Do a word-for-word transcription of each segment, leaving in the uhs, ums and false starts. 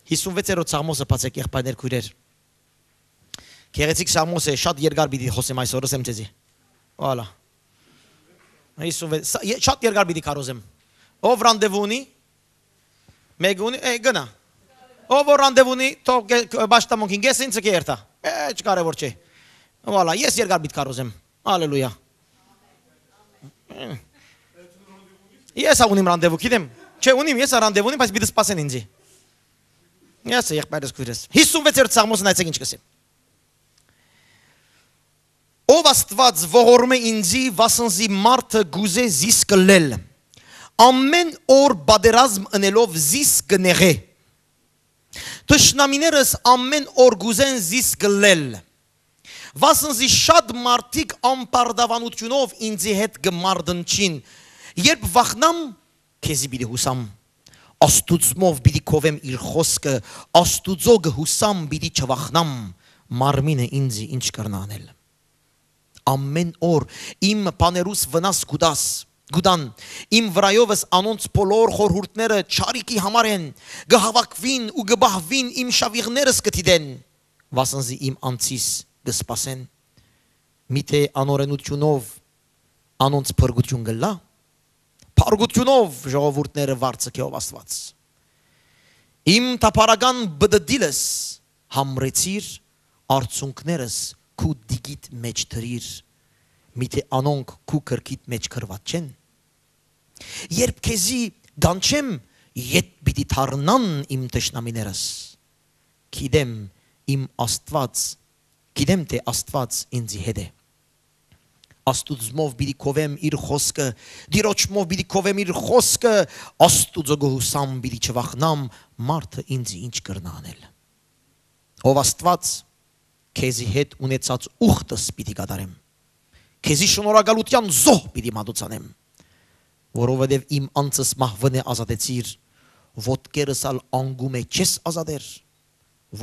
Հիսունվեցերորդ Սաղմոսը բացեք, եղբայրներ, քոյրեր։ Գեղեցիկ Սաղմոս է, շատ երկար պիտի խօսեմ այսօր, ըսեմ ձեզի։ Վալա։ Հիսունվեց, սա-, ե-, շատ երկար պիտի քարոզեմ։ Ով ռանդեվու ունի, մեկը ունի, է, գնա։ Ով որ ռանդեվու ունի, թող գե-, պաշտամունքին կես ինձ կերտա։ Է, չկարևոր չէ։ Վալա, ես երկար պիտի քարոզեմ։ Ալելույա։ Ես ա ունիմ ռանդեվու, գիտեմ։ Չէ, ունիմ, ես ա ռանդեվու ունիմ, բայց պիտի սպասեն ինձի։ Ես ա, եղբայրս, քոյրս։ Հիսունվեցերորդ Սաղմոսը, նայեցեք ինչ կսեմ։ Ով Աստուած, ողորմէ ինձի, վասն զի մարդը կուզէ զիս կլլել։ Ամեն օր պատերազմ ընելով զիս կնեղէ։ Թշնամիներս ամեն օր կուզեն զիս կլլել։ Վասն զի շատ մարդիկ անպարտաւանութիւնով ինձի հետ կը մարտնչին։ Երբ վախնամ, քեզի պիտի յուսամ։ Աստուծմով պիտի քովեմ իր խօսքը, Աստուծո կը յուսամ, պիտի չվախնամ, մարմինը ինձի ինչ կրնայ անել։ Ամեն օր իմ բաներուս վնաս կու տաս, կու տան, իմ վրայովս անոնց բոլոր խորհուրդները չարիքի համար են, կը հաւաքուին ու կը պահուին, իմ շաւիղներս կը դիտեն, վասն զի իմ անձիս կը սպասեն։ Միթէ անօրենութիւնով անոնց փրկութիւն կ'ըլլայ, փառքութիւնով ժողովուրդները վարձ կ'ըլլայ, ով Աստուած։ Իմ թափառական բդդիլս համրեցիր, արցունքներս քու դիգիդ մէջ դրիր, միթէ անոնք քու գրքիդ մէջ գրուած չեն։ Երբ քեզի կանչեմ, ետ պիտի դառնան իմ թշնամիներս։ Գիտեմ իմ Աստուած, գիտեմ թէ Աստուած ինձի հետ է։ Աստուծմով պիտի քովեմ իր խօսքը, Տիրոջմով պիտի քովեմ իր խօսքը, Աստուծո գոհուսամ պիտի չվախնամ, մարդը ինձի ինչ կրնայ անել։ Ով Աստուած, քեզի հետ ունեցած ուխտս պիտի կատարեմ, քեզի շնորհակալութեան զոհ պիտի մատուցանեմ, որովհետև իմ անձս մահուընէ ազատեցիր, ոտքերս ալ անկումը չես ազատեր,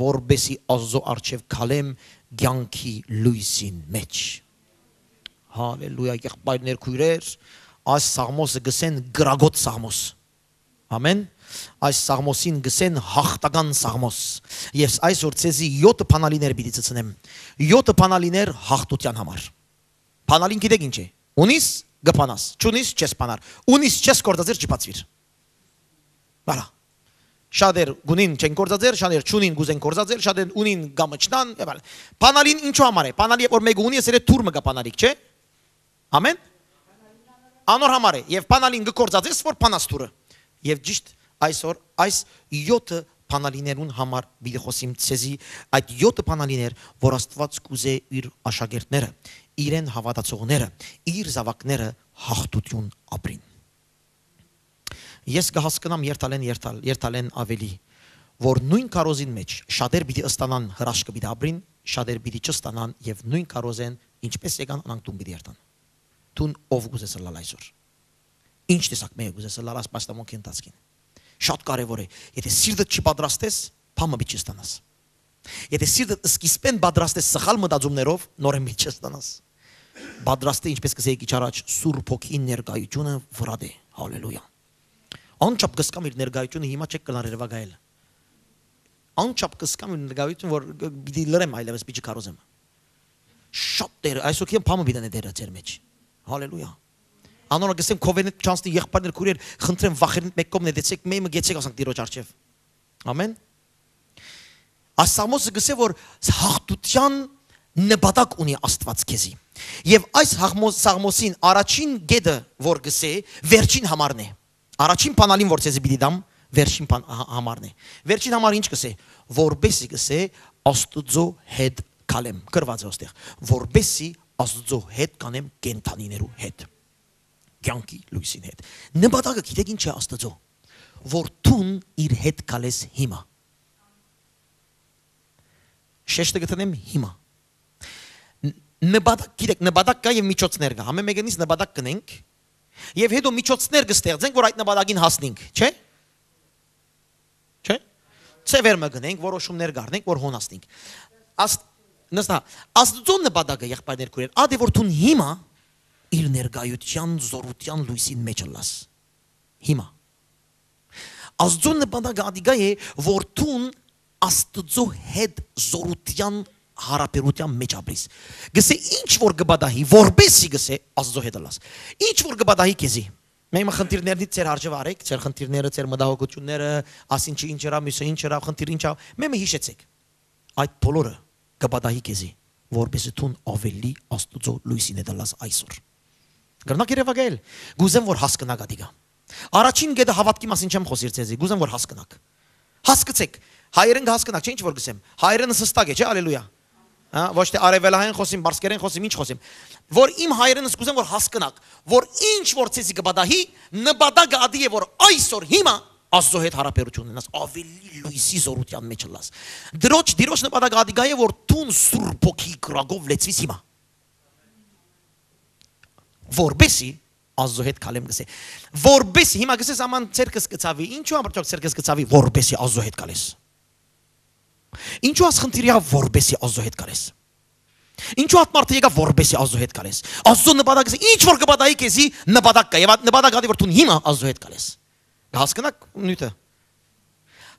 որպէսի Աստուծոյ առջեւ քալեմ կեանքի լոյսին մէջ։ Հալելույա, եղբայրներ, քոյրեր, այս Սաղմոսը կ'ըսեն կրակոտ Սաղմոս։ Ամեն։ Այս Սաղմոսին կ'ըսեն հաղթական Սաղմոս։ Ես այսօր ձեզի յոթը բանալիներ պիտի ցցնեմ։ Յոթը բանալիներ հաղթութեան համար։ Բանալին գիտեք ինչ է։ Ունիս, կը բանաս, չունիս, չես բանար։ Ունիս, չես գործածեր, չի բացվիր։ Վալա։ Շատեր կունին չեն գործածեր, շատեր չունին, կուզեն գործածեր, շատեր ունին կամչնան, եւ այլն։ Բանալին ինչու համար է։ Բանալի, որ մեկը ունի, ասել է, թուր մը կա բանալիք, չէ՞։ Ամեն։ Անոր համար է, եւ բանալին կը գործածես, որ բանաս թուրը։ Եւ ճիշտ այսօր այս յոթը բանալիներուն համար պիտի խօսիմ ցեզի, այդ յոթը բանալիներ, որ Աստուած կ'ուզէ իր աշակերտները, իրեն հաւատացողները, իր զաւակները հաղթութիւն ապրին։ Ես կը հասկնամ երթալեն, երթալ-, երթալեն աւելի, որ նոյն քարոզին մէջ շատեր պիտի ըստանան, հրաշքը պիտի ապրին, շատեր պիտի չըստանան եւ նոյն քարոզեն ինչպես եկան, անոնք տուն պիտի երթան։ Դուն ով կ'ուզես ըլլալ այսօր։ Ինչ տեսակ մեկը կ'ուզես ըլլալ այս պաշտամունքի ընթացքին։ Շատ կարեւոր է, եթե սիրտդ չի պատրաստես, բան մը պիտի չստանաս։ Եթե սիրտդ սկիզբեն պատրաստես սխալ մտածումներով, նորեն պիտի չստանաս։ Պատրաստը, ինչպես կ'ըսէի քիչ առաջ, Սուրբ Հոգին ներկայությունը վրայդ է։ Հալելույա։ Անչափ կ'սկամ իր ներկայությունը, հիմա չեք կլան երևակայել։ Անչափ կ'սկամ իր ներկայությունը, որ պիտի լռեմ այլեւս, պիտի չքարոզեմ։ Շատ Տեր, այսօր քիան բամը պիտի նետերը ձեր մեջ։ Հալելույա։ Անոնք կ'ըսեմ, քովենետ չանցնի, եղբայրներ, քուրեր, խնդրեմ, վախերնիդ մէկ կողմ նետեցեք, մէ մը գեցեք, ասանք Տիրոջ առջեւ։ Ամեն։ Այս Սաղմոսը կ'ըսէ, որ հաղթութեան նպատակ ունի Աստուած քեզի։ Եւ այս հաղմո-, Սաղմոսին առաջին կետը, որ կ'ըսէ, վերջին համարն է։ Առաջին բանալին, որ ցեզի պիտի տամ, վերջին բան, հա-, համարն է։ Վերջին համար ինչ կ'ըսէ, որպեսի կ'ըսէ, Աստուծո հետ քալեմ, գրուած է ոստեղ, որպեսի Աստուծո հետ կանեմ կենդանիներու հետ, կեանքի լոյսին հետ։ Նպատակը գիտեք ինչ է Աստուծո, որ դուն իր հետ քալես հիմա։ Շեշտը կդնեմ հիմա։ Ն-, նպատակ, գիտեք, նպատակ կա եւ միջոցներ կա։ Ամեն մեկը նից նպատակ կնենք, եւ հետո միջոցներ կստեղծենք, որ այդ նպատակին հասնենք, չէ՞։ Չէ՞։ Ձևեր մը գնենք, որոշումներ կառնենք, որ հոն հասնենք։ Աստ-, նստա, Աստուծո նպատակը, եղբայրներ, քուրեր, ադէ որ դուն հիմա իր ներկայութեան, զորութեան լույսին մեջ ըլլաս։ Հիմա։ Աստուծոյ նպատակը ատիկա է, որ դուն Աստուծոյ հետ զօրութեան յարաբերութեան մէջ ապրես։ Գսէ, ինչ որ կը պատահի, որպեսի, գսէ, Աստուծոյ հետ ըլլաս։ Ինչ որ կը պատահի քեզի։ Մեմը խնդիրներնից ձեր հարճը վարեք, ձեր խնդիրները, ձեր մտահոգությունները, ասինչը ինչ ըրաւ, մյուսը ինչ ըրաւ, խնդիր ինչ ա, մեմը յիշեցեք։ Այդ բոլորը կը պատահի քեզի, որպեսզի դուն աւելի Աստուծոյ լոյսին հետ ըլլաս այսօր։ Կրնաք երեւակայել, կ'ուզեմ որ հասկնաք ատիկա։ Առաջին կետը, հաւատքի մասին չեմ խօսիր ձեզի, կ'ուզեմ որ հասկնաք։ Հասկցեք, հայերէն կը հասկնաք, չէ՞, ինչ որ կ'ըսեմ։ Հայերէնս հստակ է, չէ՞, ալելուիա։ Հա, ոչ թէ արեւելահայերէն խօսիմ, բարսկերէն խօսիմ, ինչ խօսիմ։ Որ իմ հայերէնս կ'ուզեմ որ հասկնաք, որ ինչ որ ձեզի կը պատահի, նպատակը ատի է որ այսօր հիմա Աստուծոյ հետ յարաբերութիւն ունենաս, աւելի լոյսի զօրութեան մէջ ըլլաս։ Տիրոջ, Տիրոջ նպատակը ատիկա է որ դուն Սուրբ Հոգի կրակով լեցուիս հիմա, որպեսի Աստուծոյ հետ քալեմ, գսէ։ Որպեսի, հիմա գսես, աման, ձերքս կը ցաւի, ինչու՞ ամբողջ ձերքս կը ցաւի, որպեսի Աստուծոյ հետ քալես։ Ինչու՞ աս խնդիր եղաւ, որպեսի Աստուծոյ հետ քալես։ Ինչու՞ ատ մարդը եկաւ, որպեսի Աստուծոյ հետ քալես։ Աստուծոյ նպատակը, ինչ որ կը պատահի քեզի, նպատակ կա, եւ այդ նպատակը ատի որ դուն հիմա Աստուծոյ հետ քալես։ Կը հասկնաք նիւթը։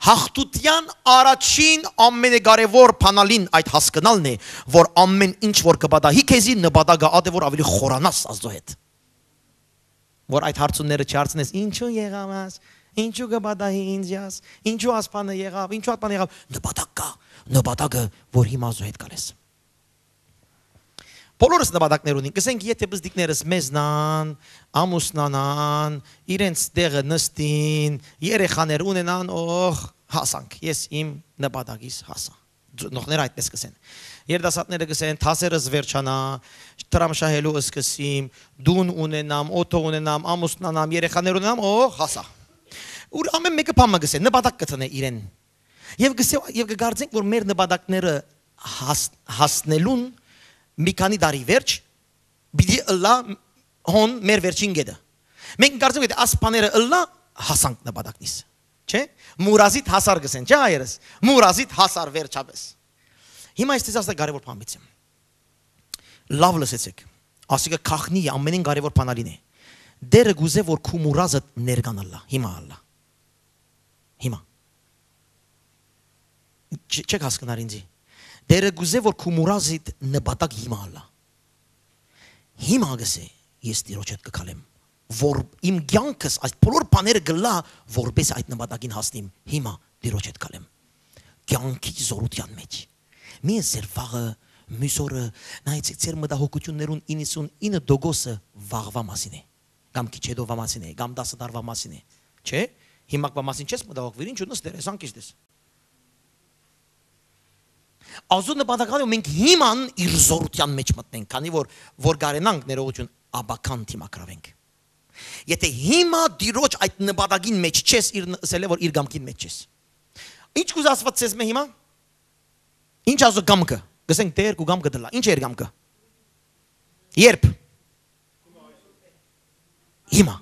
Հաղթութեան առաջին ամենակարեւոր բանալին այդ հասկնալն է, որ ամեն ինչ որ կը պատահի քեզի, նպատակը ատե որ աւելի խորանաս Աստուծոյ հետ։ Որ այդ հարցումները չհարցնես, ինչու եղաւ աս, ինչու կը պատահի ինձ աս, ինչու աս բանը եղաւ, ինչու այդ բանը եղաւ, նպատակ կա, նպատակը որ հիմա Աստուծոյ հետ քալես։ Բոլորս նպատակներ ունին, կսենք, եթե պզտիկներս մեզնան, ամուսնանան, իրենց տեղը նստին, երեխաներ ունենան, օղ, հասանք, ես իմ նպատակիս հասա։ Ծնողները այդպես կսեն։ Երիտասարդները կսեն, դասերս վերջանայ, դրամ շահելու սկսիմ, տուն ունենամ, օթո ունենամ, ամուսնանամ, երեխաներ ունենամ, օ, հասայ։ Ուր ամէն մէկը բան մը կսէ, նպատակ կդնէ իրեն։ Եւ կսէ, եւ կկարծենք, որ մեր նպատակները հաս-, հասնելուն մի քանի տարի վերջ պիտի ըլլայ հոն մեր վերջին կետը։ Մենք կարծենք, որ աս բաները ըլլայ, հասանք նպատակնիս։ Չէ՞։ Մուրազիտ հասար կսեն, չէ՞, հայերս։ Մուրազիտ հասար վերջապես։ Հիմա ես ձեզ ասել կարևոր բան պիտի։ Լաւ լսեցեք։ Ասիկա քախնի է, ամենէն կարևոր բանալին է։ Տերը կուզէ, որ քու մուրազը ներկան ըլլայ, հիմա ըլլայ։ Հիմա։ Չ-, չեք հասկնար ինձի։ Տերը կուզէ, որ քու մուրազիդ նպատակ հիմա ըլլայ։ Հիմա, գսէ, ես Տիրոջ հետ կգալեմ, որ իմ կեանքս այս բոլոր բաները կլա, որպես այդ նպատակին հասնիմ, հիմա Տիրոջ հետ գալեմ։ Կեանքի զորութեան մեջ։ Մի ես ձեր վաղը, մյուս օրը, նայեցեք, ձեր մտահոգություններուն իննսունինը տոկոսը վաղվա մասին է, կամ քիչ հետո վա մասին է, կամ տասը տարվա մասին է, չէ՞։ Հիմակվա մասին չես մտահոգվիր, ինչու նստեր ես, անկիշ դես։ Աստուծոյ նպատակը, մենք հիման իր զորութեան մեջ մտնենք, քանի որ, որ կարենանք ներողություն աբական դիմագրավենք։ Եթե հիմա Տիրոջ այդ նպատակին մեջ չես, իր ն-, ասել է, որ իր կամքին մեջ չես։ Ինչ կուզա Աստված ձեզ մե հիմա։ Ինչ Աստուծոյ կամքը։ Գսենք, Տեր, քու կամքը դլա։ Ինչ է իր կամքը։ Երբ։ Հիմա։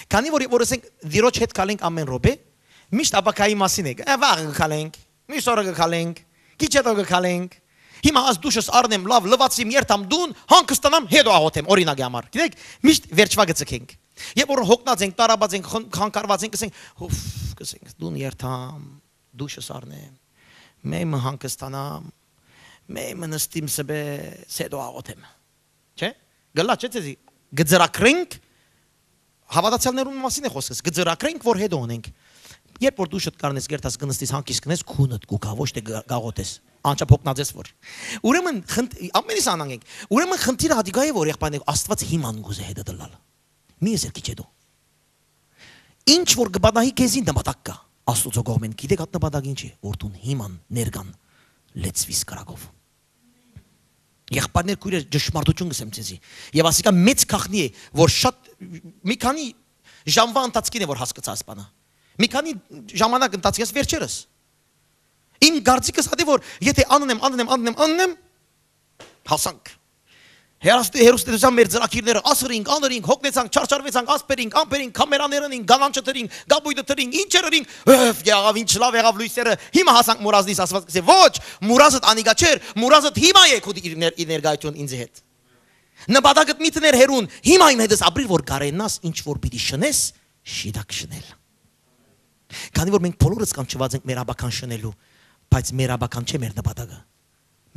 Քանի որ, որ ասենք, Տիրոջ հետ քալենք ամեն րոպե, միշտ աբակայի մասին է։ Ա, վաղը կքալենք, մյուս օրը կքալենք, քիչ հետո կքալենք։ Հիմա աս դուշս առնեմ, լաւ լվացիմ, երթամ տուն, հանգստանամ, հետո աղոթեմ, օրինակի համար։ Գիտեք, միշտ վերջվա կցկենք։ Երբ որ հոգնած ենք, տարապած ենք, խն-, խանգարված ենք, կսենք, «Ուֆ», կսենք, «տուն երթամ, դուշս առնեմ, մեմը հանգստանամ, մեմը նստիմ սպես, հետո աղոթեմ»։ Չէ՞։ Գլա, չէ՞, ձեզի։ Կծրագրենք, հավատացյալներուն մասին է խոսքս, կծրագրենք, որ հետո ունենք։ Երբ որ դուշդ կարնես, գերտաս կնստիս, հանգիստ կնես, քունդ կուքա, ոչ թե գ-, գաղոթես, անչափ հոգնած ես որ։ Ուրեմն խնդրի-, ամենից անհանգ ենք։ Ուրեմն խնդիրը հատիկա է, որ եղբայրներ, Աստված հիման կուզե հետը դլալ։ Մի ես քիչ հետո։ Ինչ որ կպատահի քեզի նպատակ կա, Աստուծոյ կողմէն, գիտեք, այդ նպատակ ինչ է, որ դուն հիման ներկան լեցվիս կրակով։ Եղբայրներ, քույրեր, ճշմարտություն կսեմ ձեզի։ Եվ ասիկա մեծ քախնի է, որ շատ, մի քանի ժամվա ընթացքին է, որ հասկացա այս բանը։ Մի քանի ժամանակ ընթացքին, այս վերջերս։ Իմ կարծիքս ատի, որ եթե աննեմ, աննեմ, աննեմ, աննեմ, հասանք։ Հեռաստ-, հեռուստատեսության մեր ծրագիրները ասրինք, անրինք, հոգնեցանք, չարչարվեցանք, ասպերինք, ամպերինք, կամերաներ ընինք, գալանչը դրինք, գաբույդը դրինք, ինչեր ընինք, ըֆ, եղավ, ինչ լավ եղավ լույսերը, հիմա հասանք Մուրազնից, Աստված կսե, ոչ, Մուրազդ անիկա չէր, Մուրազդ հիմա է քու իր ներ-, իր ներկայություն ինձ հետ։ Նպատակդ մի դներ հեռուն, հիմա իմ հետս ապրիր, որ կարենաս ինչ որ պիտի շնես, շիտակ շնել։ Քանի որ մենք բոլորս կանչուած ենք մեր ապագան շնելու, բայց մեր ապագան չէ մեր նպատակը։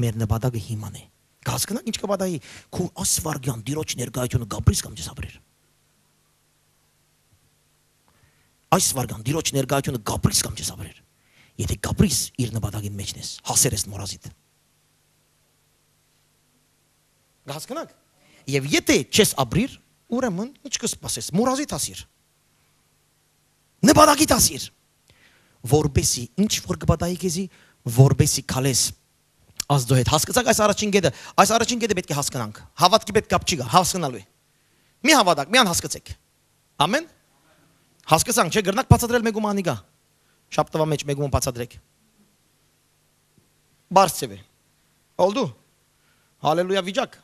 Մեր նպատակը հիման է։ Կհասկնաք ինչ կը պատահի։ Քու այս վարգեան Տիրոջ ներկայությունը կապրիս կամ չես ապրեր։ Այս վարգեան Տիրոջ ներկայությունը կապրիս կամ չես ապրեր։ Եթե կապրիս, իր նպատակին մեջն ես, հասեր ես մոռազիդ։ Կհասկնաք։ Եվ եթե չես ապրիր, ուրեմն ինչ կսպասես, մոռազիդ հասիր։ Նպատակիդ հասիր, որպեսի ինչ որ կպատահի քեզի, որպեսի քալես Աստծո հետ։ Հասկացաք այս առաջին կետը, այս առաջին կետը պէտք է հասկնանք։ Հաւատքի հետ կապ չի գա, հասկնալու է։ Մի հաւատաք, մի անհասկացեք։ Ամեն։ Հասկացանք, չէ՞, կրնաք բացատրել մեկու մանիկա։ Շաբթուա մեջ մեկու բացատրեք։ Բարձ ձևը։ Ալդու։ Հալելույա վիճակ։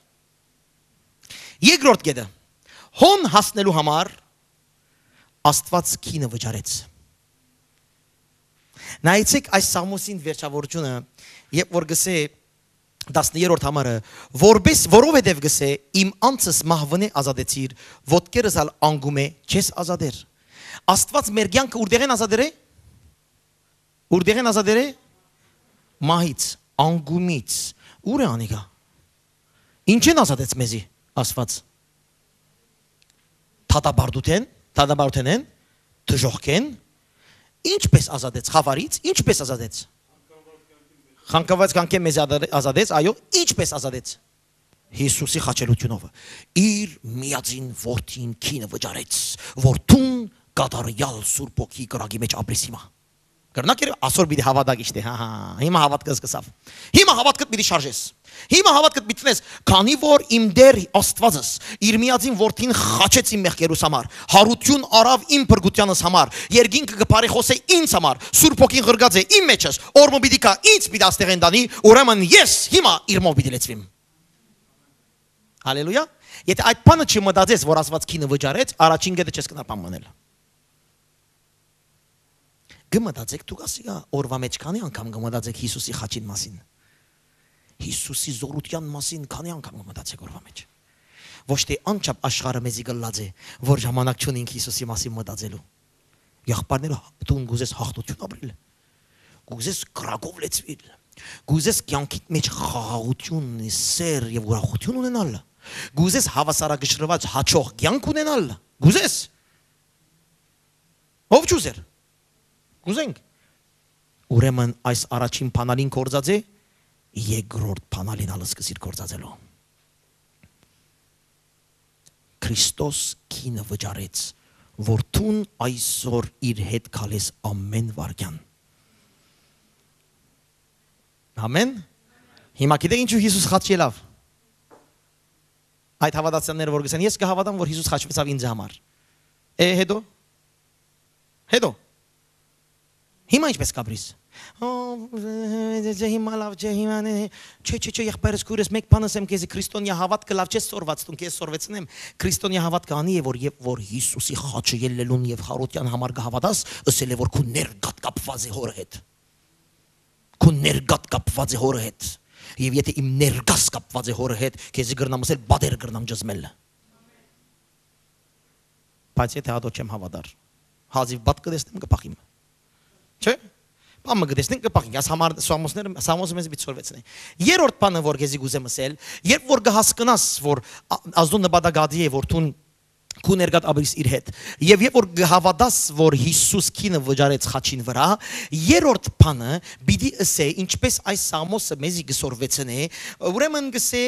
Երկրորդ կետը։ Հոն հասնելու համար Աստված քինը վճարեց։ Նայեցեք այս Սաղմոսին վերջավորությունը, երբ որ գսե տասներորդ համարը, որպես, որովհետև գսե, իմ անձս մահվնէ ազատեցիր, ոտքերս ալ անկում է, չես ազատեր։ Աստված մեր կյանքը ուրդեղեն ազատեր է։ Ուրդեղեն ազատեր է։ Մահից, անկումից։ Ո՞ւր է անիկա։ Ինչեն ազատեց մեզի Աստված։ Դատապարտութեն, դատապարտութենեն, դժոխքեն։ Ինչպես ազատեց խավարից, ինչպես ազատեց։ Խանգարված կյանքէն մեզի ազատեց, այո, ինչպես ազատեց։ Յիսուսի խաչելութիւնով։ Իր միածին որդին քինը վճարեց, որ դուն կատարեալ Սուրբ Հոգի կրակի մեջ ապրես հիմա։ Կրնակ էր ասոր պիտի հաւատակ իշտե, հա, հա, հիմա հաւատքը սկսավ։ Հիմա հաւատքդ պիտի շարժես։ Հիմա հաւատքդ պիտի տնես, քանի որ իմ Տեր Աստուածս իր միածին որդին խաչեց իմ մեղքերուս համար, հարություն առավ իմ փրկութեանս համար, երկինքը կը բարեխոսե ինձ համար, Սուրբ Հոգին ղրկած է իմ մեջս, օր մը պիտի գայ, ինձ պիտի աստեղեն տանի, ուրեմն ես հիմա իրմով պիտի լեցուիմ։ Հալելույա։ Եթե այդ բանը չմտածես, որ Աստուած քինը վճարեց, առաջին կետը չես կնար բան մնել։ Կը մտածեք դուք ասիկա օրվա մեջ քանի՞ անգամ կը մտածեք Յիսուսի խաչին մասին։ Յիսուսի զօրութեան մասին քանի՞ անգամ կը մտածեք օրվա մեջ։ Ոչ թէ անչափ աշխարհը մեզի կլլած է, որ ժամանակ չունինք Յիսուսի մասին մտածելու։ Եղբայրներ, դուն կուզես յաղթութիւն ապրիլ, կուզես կրակով լեցուիլ, կուզես կյանքիդ մեջ խաղաղութիւն, սեր եւ ուրախութիւն ունենալ, կուզես հաւասարակշռուած յաջող կյանք ունենալ, կուզես։ Ո՞վ չուզեր։ Կուզենք։ Ուրեմն այս առաջին բանալին կործած է, երկրորդ բանալին ալ սկսիր կործածելու։ Քրիստոս քինը վճարեց, որ դուն այսօր իր հետ քալես ամեն վարքեան։ Ամեն։ Հիմա գիտեք ինչու Յիսուս խաչ ելաւ։ Այդ հաւատացյալները որ գսեն, ես կհաւատամ, որ Յիսուս խաչուեցաւ ինձ համար։ Է, հետո։ Հետո։ Հիմա ինչպես կապրիս։ Ո, ջե, հիմա լավ, ջե, հիմա նե։ Չէ, չէ, չէ, եղբայրս, քույրս, մեկ բան ասեմ քեզի, քրիստոնեայ հաւատքը լավ չես սորված, դուն քեզ սորվեցնեմ։ Քրիստոնեայ հաւատքը անի է, որ երբ որ Յիսուսի խաչը ելլելուն եւ խարոտեան համար կհաւատաս, ըսել է, որ քու ներկատ կապված է հորը հետ։ Քու ներկատ կապված է հորը հետ։ Եւ եթե իմ ներկաս կապված է հորը հետ, քեզի կրնամ ասել, պատեր կրնամ ճզմել։ Բայց եթե ատոր չեմ հաւատար, հազիւ բադ կը տեսնեմ, կը փախիմ։ Չէ՞։ Բան մը կը տեսնենք, կը փախինք։ Այս համար Սամոսները, Սամոսը մեզ պիտի սորվեցնի։ Երրորդ բանը, որ քեզի կուզեմ ասել, երբ որ կհասկնաս, որ ա-, Աստուծոյ նպատակը ատի է, որ դուն քու ներկատ ապրիս իր հետ, եւ երբ որ կհաւատաս, որ Յիսուս քինը վճարեց խաչին վրայ, երրորդ բանը պիտի ըսե, ինչպես այս Սամոսը մեզի կը սորվեցնէ, ուրեմն կսե,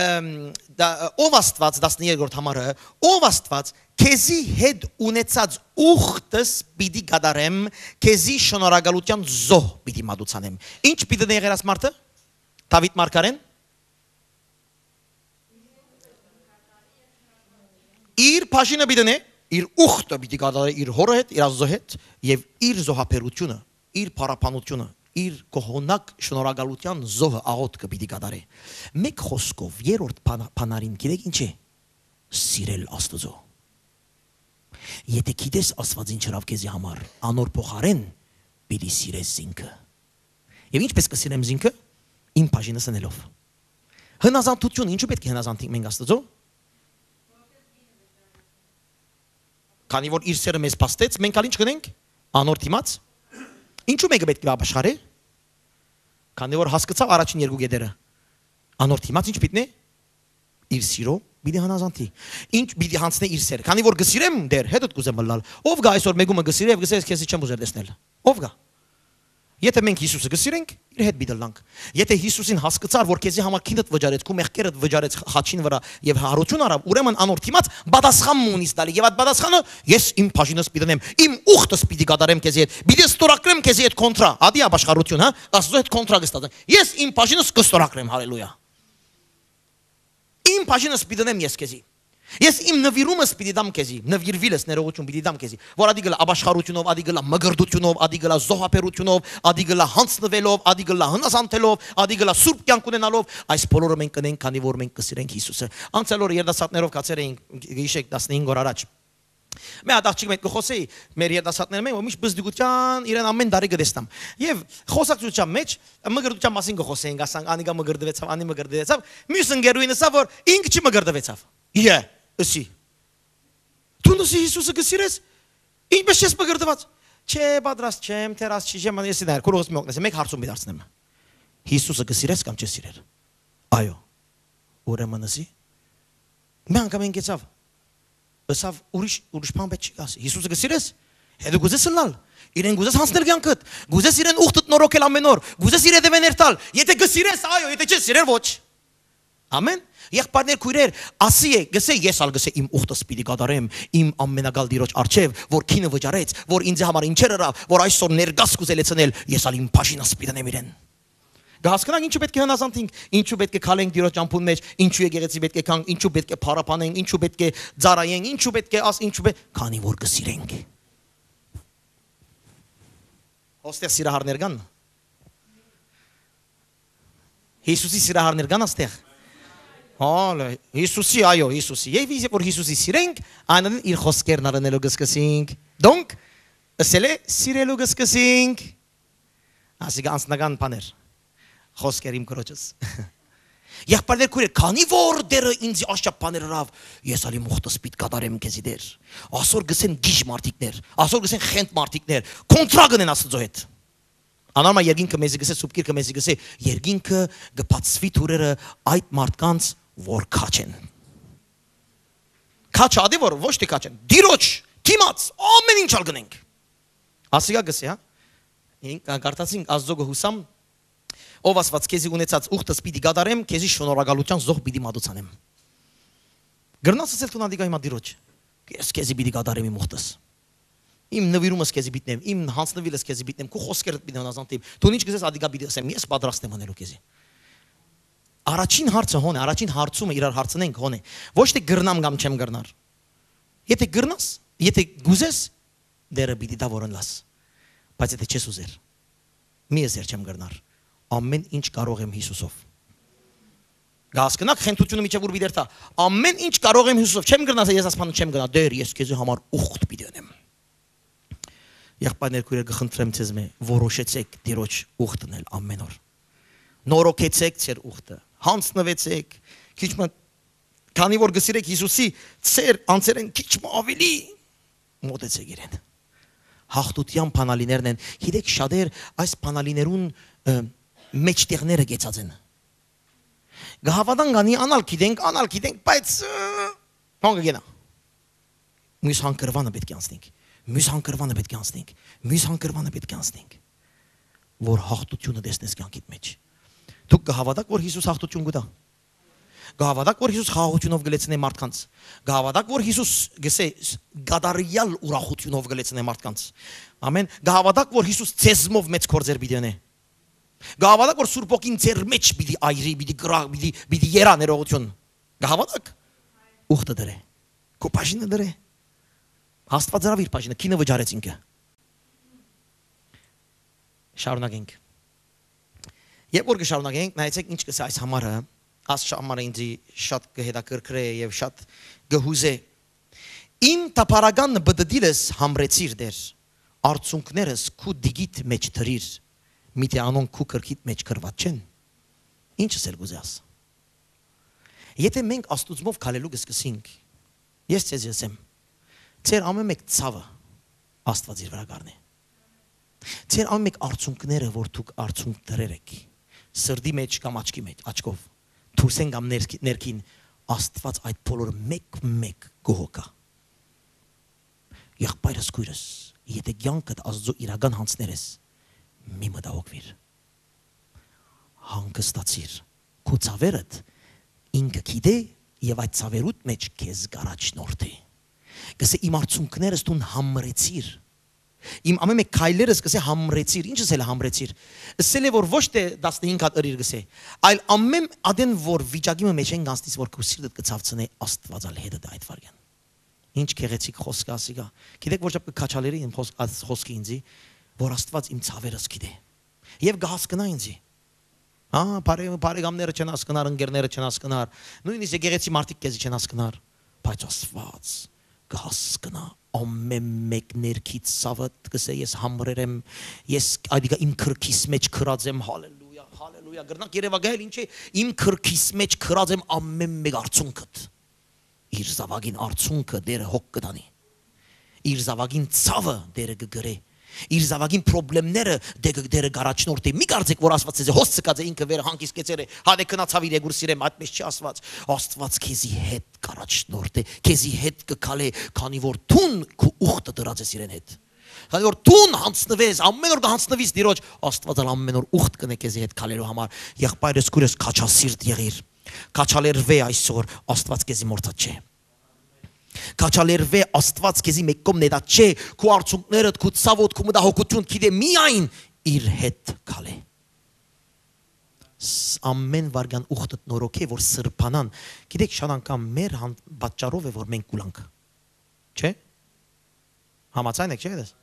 ըմ, դա, ով Աստուած, տասներկրորդ համարը, ով Աստուած, քեզի հետ ունեցած ուխտս պիտի կատարեմ, քեզի շնորհակալութեան զոհ պիտի մատուցանեմ։ Ինչ պիտի ըրի եղեր աս մարդը, Դաւիթ մարգարեն։ Իր բաժինը պիտի դնէ, իր ուխտը պիտի կատարէ իր հորը հետ, իր Աստուծոյ հետ եւ իր զոհաբերությունը, իր փառաբանությունը, իր կողոնակ շնորհակալութեան զոհը, աղոթքը պիտի կատարէ։ Մեկ խօսքով, երրորդ բան-, բանալին գիտեք ինչ է։ Սիրել Աստուծոյ։ Եթե գիտես Աստուած ինչ ըրաւ քեզի համար, անոր փոխարեն պիտի սիրես զինքը։ Եւ ինչպես կը սիրեմ զինքը, իմ բաժինս ընելով։ Հնազանդություն, ինչու պէտք է հնազանդենք մենք Աստուծոյ։ Քանի որ իր սերը մեզ փաստեց, մենք ալ ինչ կ'ընենք։ Անոր դիմաց, ինչու մէկը պէտք է ապաշխարէ, քանի որ հասկցաւ առաջին երկու կետերը։ Անոր դիմաց ինչ պիտի նե, իր սիրո պիտի հնազանդի։ Ինչ պիտի յանցնէ իր սերը, քանի որ կը սիրեմ դեր, հետդ կ'ուզեմ ըլլալ։ Ո՞վ կայ այսօր մէկումը կը սիրէ եւ կ'ըսէ, ես քեզի չեմ ուզեր տեսնել։ Ո՞վ կայ։ Եթե մենք Յիսուսը կը սիրենք, իր հետ պիտի ըլլանք։ Եթե Յիսուսին հասկցար, որ քեզի համար քինդ վճարեց, քու մեղքերդ վճարեց խաչին վրայ եւ յարութիւն առաւ, ուրեմն անոր դիմաց պատասխան մը ունիս տալի, եւ այդ պատասխանը, ես իմ բաժինս պիտի դնեմ, իմ ուխտս պիտի կատարեմ քեզի հետ, պիտի ստորագրեմ քեզի հետ կոնտրա, ադի ապաշխարութիւն, հա, Աստուծոյ հետ կոնտրա կը ստացեմ։ Ես իմ բաժինս կը ստորագրեմ, հալելույա։ Իմ բաժինս պիտի դնեմ ես քեզի։ Ես իմ նվիրումս պիտի դամ քեզի, նվիրուիլս ներողություն պիտի դամ քեզի, որ ադի գլա ապաշխարությունով, ադի գլա մկրտությունով, ադի գլա զոհաբերությունով, ադի գլա յանցնուելով, ադի գլա հնազանդելով, ադի գլա սուրբ կեանք ունենալով, այս բոլորը մենք կ'ընենք, քանի որ մենք կը սիրենք Յիսուսը։ Անցյալ օրը երիտասարդներով կացեր էինք, գիշեր տասնհինգ օր առաջ։ Մէ հատ աղջիկ մէկ կը խօսէի, մեր երիտասարդները մէ, որ միշտ բզդուկութեան իրեն ամէն տարի կը տեսնամ։ Եւ խօսակցութեան մէջ մկրտութեան մասին կը խօսէինք, ասանք, անիկա մկրտուեցաւ, անի մկրտուեցաւ, միւս ընկերուհին ըսաւ, որ ինք չի մկրտուեցաւ։ Իե, ըսի։ Դուն ըսի Յիսուսը կը սիրես, ինչպես չես մկրտուած։ Չէ, պատրաստ չեմ, թերաս չի, չեմ, ես դար, քուրուս մի օգնես, մէկ հարցում մի դարձնեմ։ Յիսուսը կը սիրես կամ չես սիրեր։ Այո։ Ուրեմն ըսի, մի անգամ ինքեցաւ, ըսաւ, ուրիշ, ուրիշ բան պէտք չի կասի։ Յիսուսը կը սիրես, հետո կ'ուզես ըլլալ, իրեն կ'ուզես յանցնել կեանքդ, կ'ուզես իրեն ուխտդ նորոգել ամէն օր, կ'ուզես իր հետեւէն երթալ, եթե կը սիրես, այո, եթե չես սիրեր, ոչ։ Ամեն։ Եղբայրներ, քոյրեր, ասի է, գսե, ես ալ գսե իմ ուխտս պիտի կատարեմ, իմ ամենակալ Տիրոջ առջեւ, որ քինը վճարեց, որ ինձ համար ինչեր ըրաւ, որ այսօր ներկաս կ'ուզե լեցնել, ես ալ իմ բաժինս պիտի դնեմ իրեն։ Կհասկնանք ինչու պէտք է հնազանդենք, ինչու պէտք է քալենք Տիրոջ ճամբուն մէջ, ինչու եկեղեցի պէտք է գանք, ինչու պէտք է փառաբանենք, ինչու պէտք է ծառայենք, ինչու պէտք է աս, ինչու պէ-, քանի որ կը սիրենք։ Հոստեղ սիրահարներ կան։ Յիսուսի սիրահարներ կան աստեղ։ Հալը, Յիսուսի, այո, Յիսուսի։ Եւ իսկ որ Յիսուսի սիրենք, այն իր խոսքերն առնելու կսկսենք։ Donc, ըսել է, սիրելու կսկսենք։ Ասիկա անձնական բաներ, խոսքեր իմ քրոջս։ Եղբայրներ, քոյրեր, քանի որ Տերը ինձ աշապ բաներ ըրաւ, ես ալ իմ ուխտս պիտ կատարեմ քեզի Տեր։ Ասոր գսեն գիժ մարդիկներ, ասոր գսեն խենթ մարդիկներ, կոնտրա կ'ընեն Աստուծոյ հետ։ Անարմա երկինքը մեզի գսե, սուպ գիրքը մեզի գսե, երկինքը կը բացուի դուրերը այդ մարդկանց, որ քաջ են։ Քաջ ադի որ ոչ թե քաջ են, դիրոջ, դիմաց, ամեն ինչ ալ գնենք։ Ասիկա գսե, հա։ Ինք կարդացինք, Աստծո գը հուսամ, ով ասված, քեզի ունեցած ուխտս պիտի կատարեմ, քեզի շնորհակալության զոհ պիտի մատուցանեմ։ Գրնաս ասել դուն ադիկա հիմա դիրոջ, ես քեզի պիտի կատարեմ իմ ուխտս։ Իմ նվիրումս քեզի պիտի դնեմ, իմ հանձնվիլս քեզի պիտի դնեմ, քու խոսքերդ պիտի հնազանդեմ։ Դու ինչ կ'ըսես, ադիկա պիտի ասեմ, ես պատրաստ եմ անելու քեզի։ Առաջին հարցը հոն է, առաջին հարցումը իրար հարցնենք հոն է։ Ոչ թե գրնամ կամ չեմ գրնար։ Եթե գրնաս, եթե գուզես, դերը պիտի դա որ ընլաս։ Բայց եթե չես ուզեր, մի ըսեր չեմ գրնար։ Ամեն ինչ կարող եմ Յիսուսով։ Գասկնակ խնդրությունը միջև ուր պիտի երթա։ Ամեն ինչ կարող եմ Յիսուսով, չեմ գրնա, ես ասպանը չեմ գնա, Տեր, ես քեզի համար ուխտ պիտի ընեմ։ Եղբայրներ, քույրեր, կխնդրեմ ձեզ մե, որոշեցեք Տիրոջ ուխտ ընել ամեն օր։ Նորոգեցեք ձեր ուխտը, հանձնվեցեք, քիչ մը, քանի որ գսիրեք Յիսուսի, ձեր անձերեն քիչ մը ավելի մոտեցեք իրեն։ Հաղթության բանալիներն են, գիտեք, շատեր այս բանալիներուն, ը, մեջտեղները գեցած են։ Կհավատան կանի, անալ գիտենք, անալ գիտենք, բայց, ը, հոն կգնա։ Մյուս հանգրվանը պէտք է անցնենք, մյուս հանգրվանը պէտք է անցնենք, մյուս հանգրվանը պէտք է անցնենք, որ հաղթությունը տեսնես կյանքիդ մեջ։ Դուք կհավատաք, որ Յիսուս հաղթություն կտա։ Կհավատաք, որ Յիսուս խաղաղությունով կլեցնէ մարդկանց։ Կհավատաք, որ Յիսուս գսե կատարյալ ուրախությունով կլեցնէ մարդկանց։ Ամեն։ Կհավատաք, որ Յիսուս ձեզմով մեծ գործեր պիտի ընե։ Կհավատաք, որ Սուրբ Հոգին ձեր մեջ պիտի այրի, պիտի գրաղ, պիտի, պիտի երա ներողություն։ Կհավատաք։ Ուխտը դրե, քո բաժինը դրե։ Աստված ըրավ իր բաժինը, քինը վճարեց ինքը։ Շարունակենք։ Երբ որ կշարունակենք, նայեցեք ինչ կսա այս համարը, այս համարը ինձի շատ կհետաքրքրե եւ շատ կհուզե։ Իմ տապարական բդդիլս համրեցիր, Տեր, արցունքներս քու դիգիդ մեջ դրիր, միթե անոնք քու կրքիդ մեջ գրված չեն։ Ինչս էլ կուզես։ Եթե մենք Աստուծմով քալելու կսկսենք, ես ձեզ ըսեմ, ձեր ամեն մեկ ցաւը Աստված իր վրա կառնէ։ Ձեր ամէն մէկ արցունքները, որ դուք արցունք դրեր էք, սրտի մէջ կամ աչքի մէջ, աչքով, դուրսէն կամ ներքի-, ներքին, Աստուած այդ բոլորը մէկ-մէկ կը հոգայ։ Եղբայրս, քոյրս, եթէ կեանքդ Աստուծոյ իրական յանձներ ես, մի մտահոգուիր։ Հանգստացիր։ Քու ցաւերդ ինքը գիտէ եւ այդ ցաւերուդ մէջ քեզ կ'առաջնորդէ։ Կ'ըսէ, իմ արցունքներս դուն համրեցիր։ Իմ ամէն մէկ քայլերս, կ'ըսէ, համրեցիր։ Ի՞նչ ըսել է համրեցիր։ Ըսել է, որ ոչ թէ տասնհինգ հատ ըրիր, կ'ըսէ, այլ ամէն ատեն որ վիճակի մը մէջ են գանցնից, որ քու սիրտդ կը ցաւցնէ, Աստուած ալ հետդ է այդ վարքեան։ Ինչ գեղեցիկ խօսք ա ասիկա։ Գիտեք, որ չափ կը քաչալերի իմ խօս-, աս-, խօսքը ինձի, որ Աստուած իմ ցաւերս գիտէ։ Եւ կը հասկնայ ինձի։ Հա, բարե-, բարեկամները չեն հասկնար, ընկերները չեն հասկնար, նոյնիսկ եկեղեցի մարդիկ քեզի չեն հասկնար, բայց Աստուած կը հասկնայ ամէն մէկ ներքիդ ցաւդ, կ'ըսէ, ես համրեր եմ, ես, այդիկա իմ քրքիս մէջ քրած եմ, հալելույա, հալելույա, կրնանք երեւակայել ինչ է, իմ քրքիս մէջ քրած եմ ամէն մէկ արցունքդ։ Իր զաւակին արցունքը Տէրը հոգ կը տանի։ Իր զաւակին ցաւը Տէրը կը կրէ։ Իր զաւակին պրոբլեմները Տէ-, Տէրը կ'առաջնորդի։ Մի կարծեք, որ Աստուած ձեզի հոս ցկած է, ինքը վեր հանգիստ կեցեր է, հատե գնացաւ իր երկուր սիրեմ, այդպես չի Աստուած։ Աստուած քեզի հետ կ'առաջնորդի, քեզի հետ կը քալէ, քանի որ դուն քու ուխտը դրած ես իրեն հետ։ Քանի որ դուն յանձնուես, ամէն օր կը յանձնուիս Տիրոջ, Աստուած ալ ամէն օր ուխտ կ'ընէ քեզի հետ քալելու համար։ Եղբայրս, քոյրս, քաչասիրտ եղիր։ Քաչալերուէ այսօր, Աստուած քեզի մոռցած չէ։ Քաչալերուէ, Աստուած քեզի մէկ կողմ նետած չէ, քու արցունքներդ, քու ցաւոդ, քու մտահոգութիւն, գիտէ միայն իր հետ քալէ։ Ս-, ամէն վարքան ուխտդ նորոգէ, որ սրբանան։ Գիտեք, շատ անգամ մեր հան-, պատճառով է, որ մենք կուլանք։ Չէ՞։ Համաձայն եք, չէ՞, դες։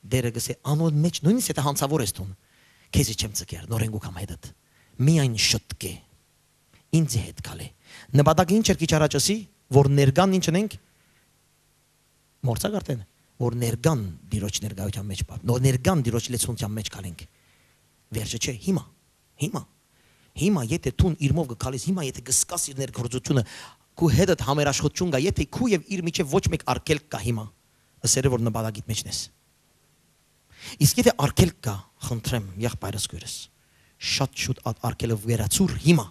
Տէրը կ'ըսէ, անոր մէջ, նոյնիսկ եթե յանցաւոր ես դուն, քեզի չեմ ձգեր, նորեն կու կամ հետդ։ Միայն շտկէ, ինձի հետ քալէ։ Նպատակը ինչ էր քիչ առաջ ըսի, որ ներկան ինչ ընենք, մոռցաք արդեն, որ ներկան Տիրոջ ներկայութեան մէջ պար-, նոր ներկան Տիրոջ լեցունութեան մէջ քալենք։ Վերջը չէ, հիմա, հիմա, հիմա, եթե դուն իրմով կը քալես, հիմա, եթե կը զգաս իր ներգործությունը, քու հետդ համերաշխութիւն կայ, եթե քու եւ իր միջեւ ոչ մէկ արգելք կայ հիմա, ըսերը որ նպատակիդ մէջն ես։ Իսկ եթե արգելք կայ, խնդրեմ, եղբայրս, քոյրս, շատ շուտ այդ արգելքը վերացուր հիմա։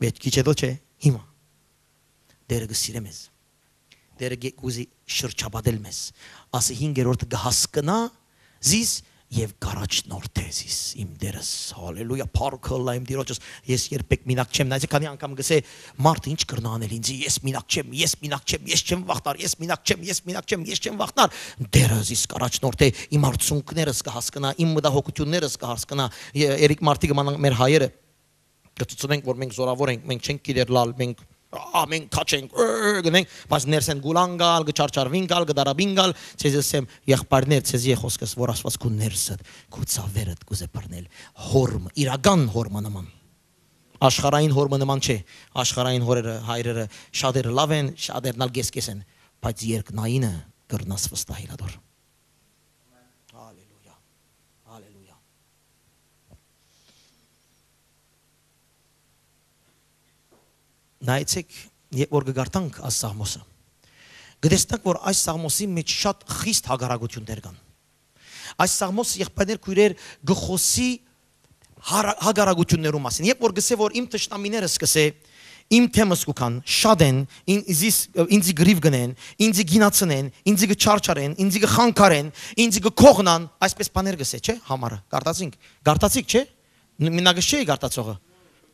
Բայց քիչ հետո չէ, հիմա։ Տերը կը սիրէ մեզ։ Տերը կը-, կ'ուզի շրջապատել մեզ։ Ասի հինգերորդը կը հասկնայ զիս եւ կ'առաջնորդէ զիս, իմ Տերս, հալելույա, փառքը ըլլայ իմ Տիրոջս, ես երբեք մինակ չեմ, նայեցեք, քանի անգամ կ'ըսէ, մարդը ինչ կրնայ անել ինձի, ես մինակ չեմ, ես մինակ չեմ, ես չեմ վախնար, ես մինակ չեմ, ես մինակ չեմ, ես չեմ վախնար, Տերը զիս կ'առաջնորդէ, իմ արցունքներս կը հասկնայ, իմ մտահոգութիւններս կը հասկնայ, ե-, երեք մարդիկ մանանք մեր հայերը, կը ցցնենք, որ մենք զորավոր ենք, մենք չենք գիտեր լալ, մենք, ա, մենք քաչ ենք, ը, գնենք, բայց ներսեն գուլան գալ, կը չարչարվին գալ, կը դարաբին գալ, ձեզ ըսեմ, եղբայրներ, ձեզի է խոսքս, որ Աստված քու ներսդ, քու ցաւերդ կ'ուզէ բռնել, հորմը, իրական հորմը նման։ Աշխարհային հորմը նման չէ, աշխարհային հորերը, հայրերը, շատերը լավ են, շատերն ալ կես-կես են, բայց երկնայինը կրնաս վստահիլ ադոր։ Հալելույա, հալելույա։ Նայեցեք, երբ որ կը կարդանք այս սաղմոսը, կը տեսնանք, որ այս սաղմոսի մեջ շատ խիստ հակառակություններ կան։ Այս սաղմոսը, եղբայրներ, քոյրեր, կը խօսի հարա-, հակառակություններու մասին։ Երբ որ կ'ըսէ, որ իմ թշնամիներս, կ'ըսէ, իմ թեմս կու գան, շատ են, ին-, զիս-, ինձի կռիւ կ'ընեն, ինձի կ'ինացնեն, ինձի կը չարչարեն, ինձի կը խանգարեն, ինձի կը քողնան, այսպես բաներ կ'ըսէ, չէ՞, համարը։ Կարդացինք, կարդացիք, չէ՞։ Ն-, մենակ չէ՞ կարդացողը։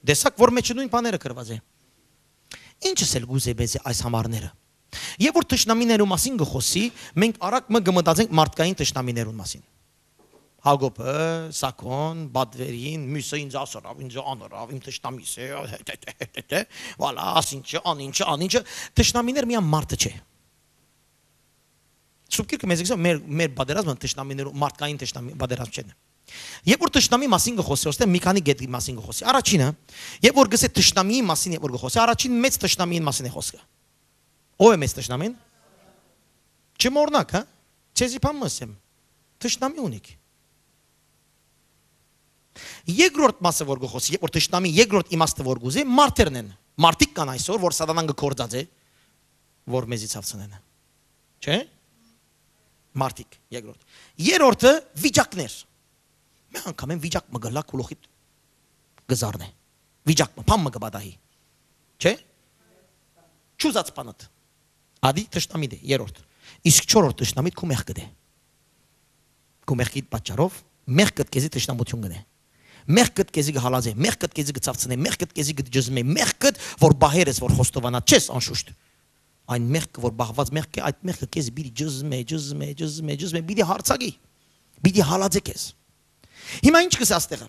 Տեսաք, որ մեջը նոյն բաները գրուած է։ Ինչ ըսել կ'ուզէ մեզի այս համարները։ Երբ որ թշնամիներու մասին կը խօսի, մենք արագ մը կը մտածենք մարդկային թշնամիներուն մասին։ Հակոբը, Սակոն, Բադվերին, մյուսը ինձ ասորավ, ինձ անորավ, իմ թշնամիս է, հե, դե, դե, դե, դե, վալա, ասինչը, անինչը, անինչը, թշնամիներ միան մարդը չէ։ Սուրբ Գիրքը մեզ գսա, մեր, մեր պատերազմը թշնամիներու, մարդկային թշնամի, պատերազմ չեն։ Երբ որ թշնամի մասին կը խօսի, ոստե մի քանի կետի մասին կը խօսի։ Առաջինը, երբ որ գսե թշնամիի մասին, երբ որ կը խօսի, առաջին մեծ թշնամիին մասին է խոսքը։ Ո՞վ է մեծ թշնամին։ Չմոռնաք, հա։ Ձեզի բան մը ասեմ, թշնամի ունիք։ Երկրորդ մասը որ կը խօսի, երբ որ թշնամի երկրորդ իմաստը որ կ'ուզի, մարդերն են։ Մարդիկ կան այսօր, որ սատանան կը գործած է, որ մեզի ցավցնեն։ Չէ՞։ Մարդիկ, երկրորդ։ Երրորդը վիճակներ։ Մէ անգամ են վիճակ մը գլա քուլոխիտ կը զարնէ։ Վիճակ մը, բան մը կը պատահի։ Չէ՞։ Չուզած բանդ։ Ադի թշնամիտ է, երրորդ։ Իսկ չորրորդ թշնամիտ քու մեղքդ է։ Քու մեղքիդ պատճառով մեղքդ քեզի թշնամություն կ'ընէ։ Մեղքդ քեզի կը հալածէ, մեղքդ քեզի կը ցաւցնէ, մեղքդ քեզի կը ջզմէ, մեղքդ որ պահեր ես, որ խոստովանած չես անշուշտ։ Այն մեղքը, որ պահուած մեղք է, այդ մեղքը քեզի պիտի ջզմէ, ջզմէ, ջզմէ, ջզմէ, պիտի հարցակի, պիտի հալածէ քեզ։ Հիմա ի՞նչ կ'ըսէ աստեղը։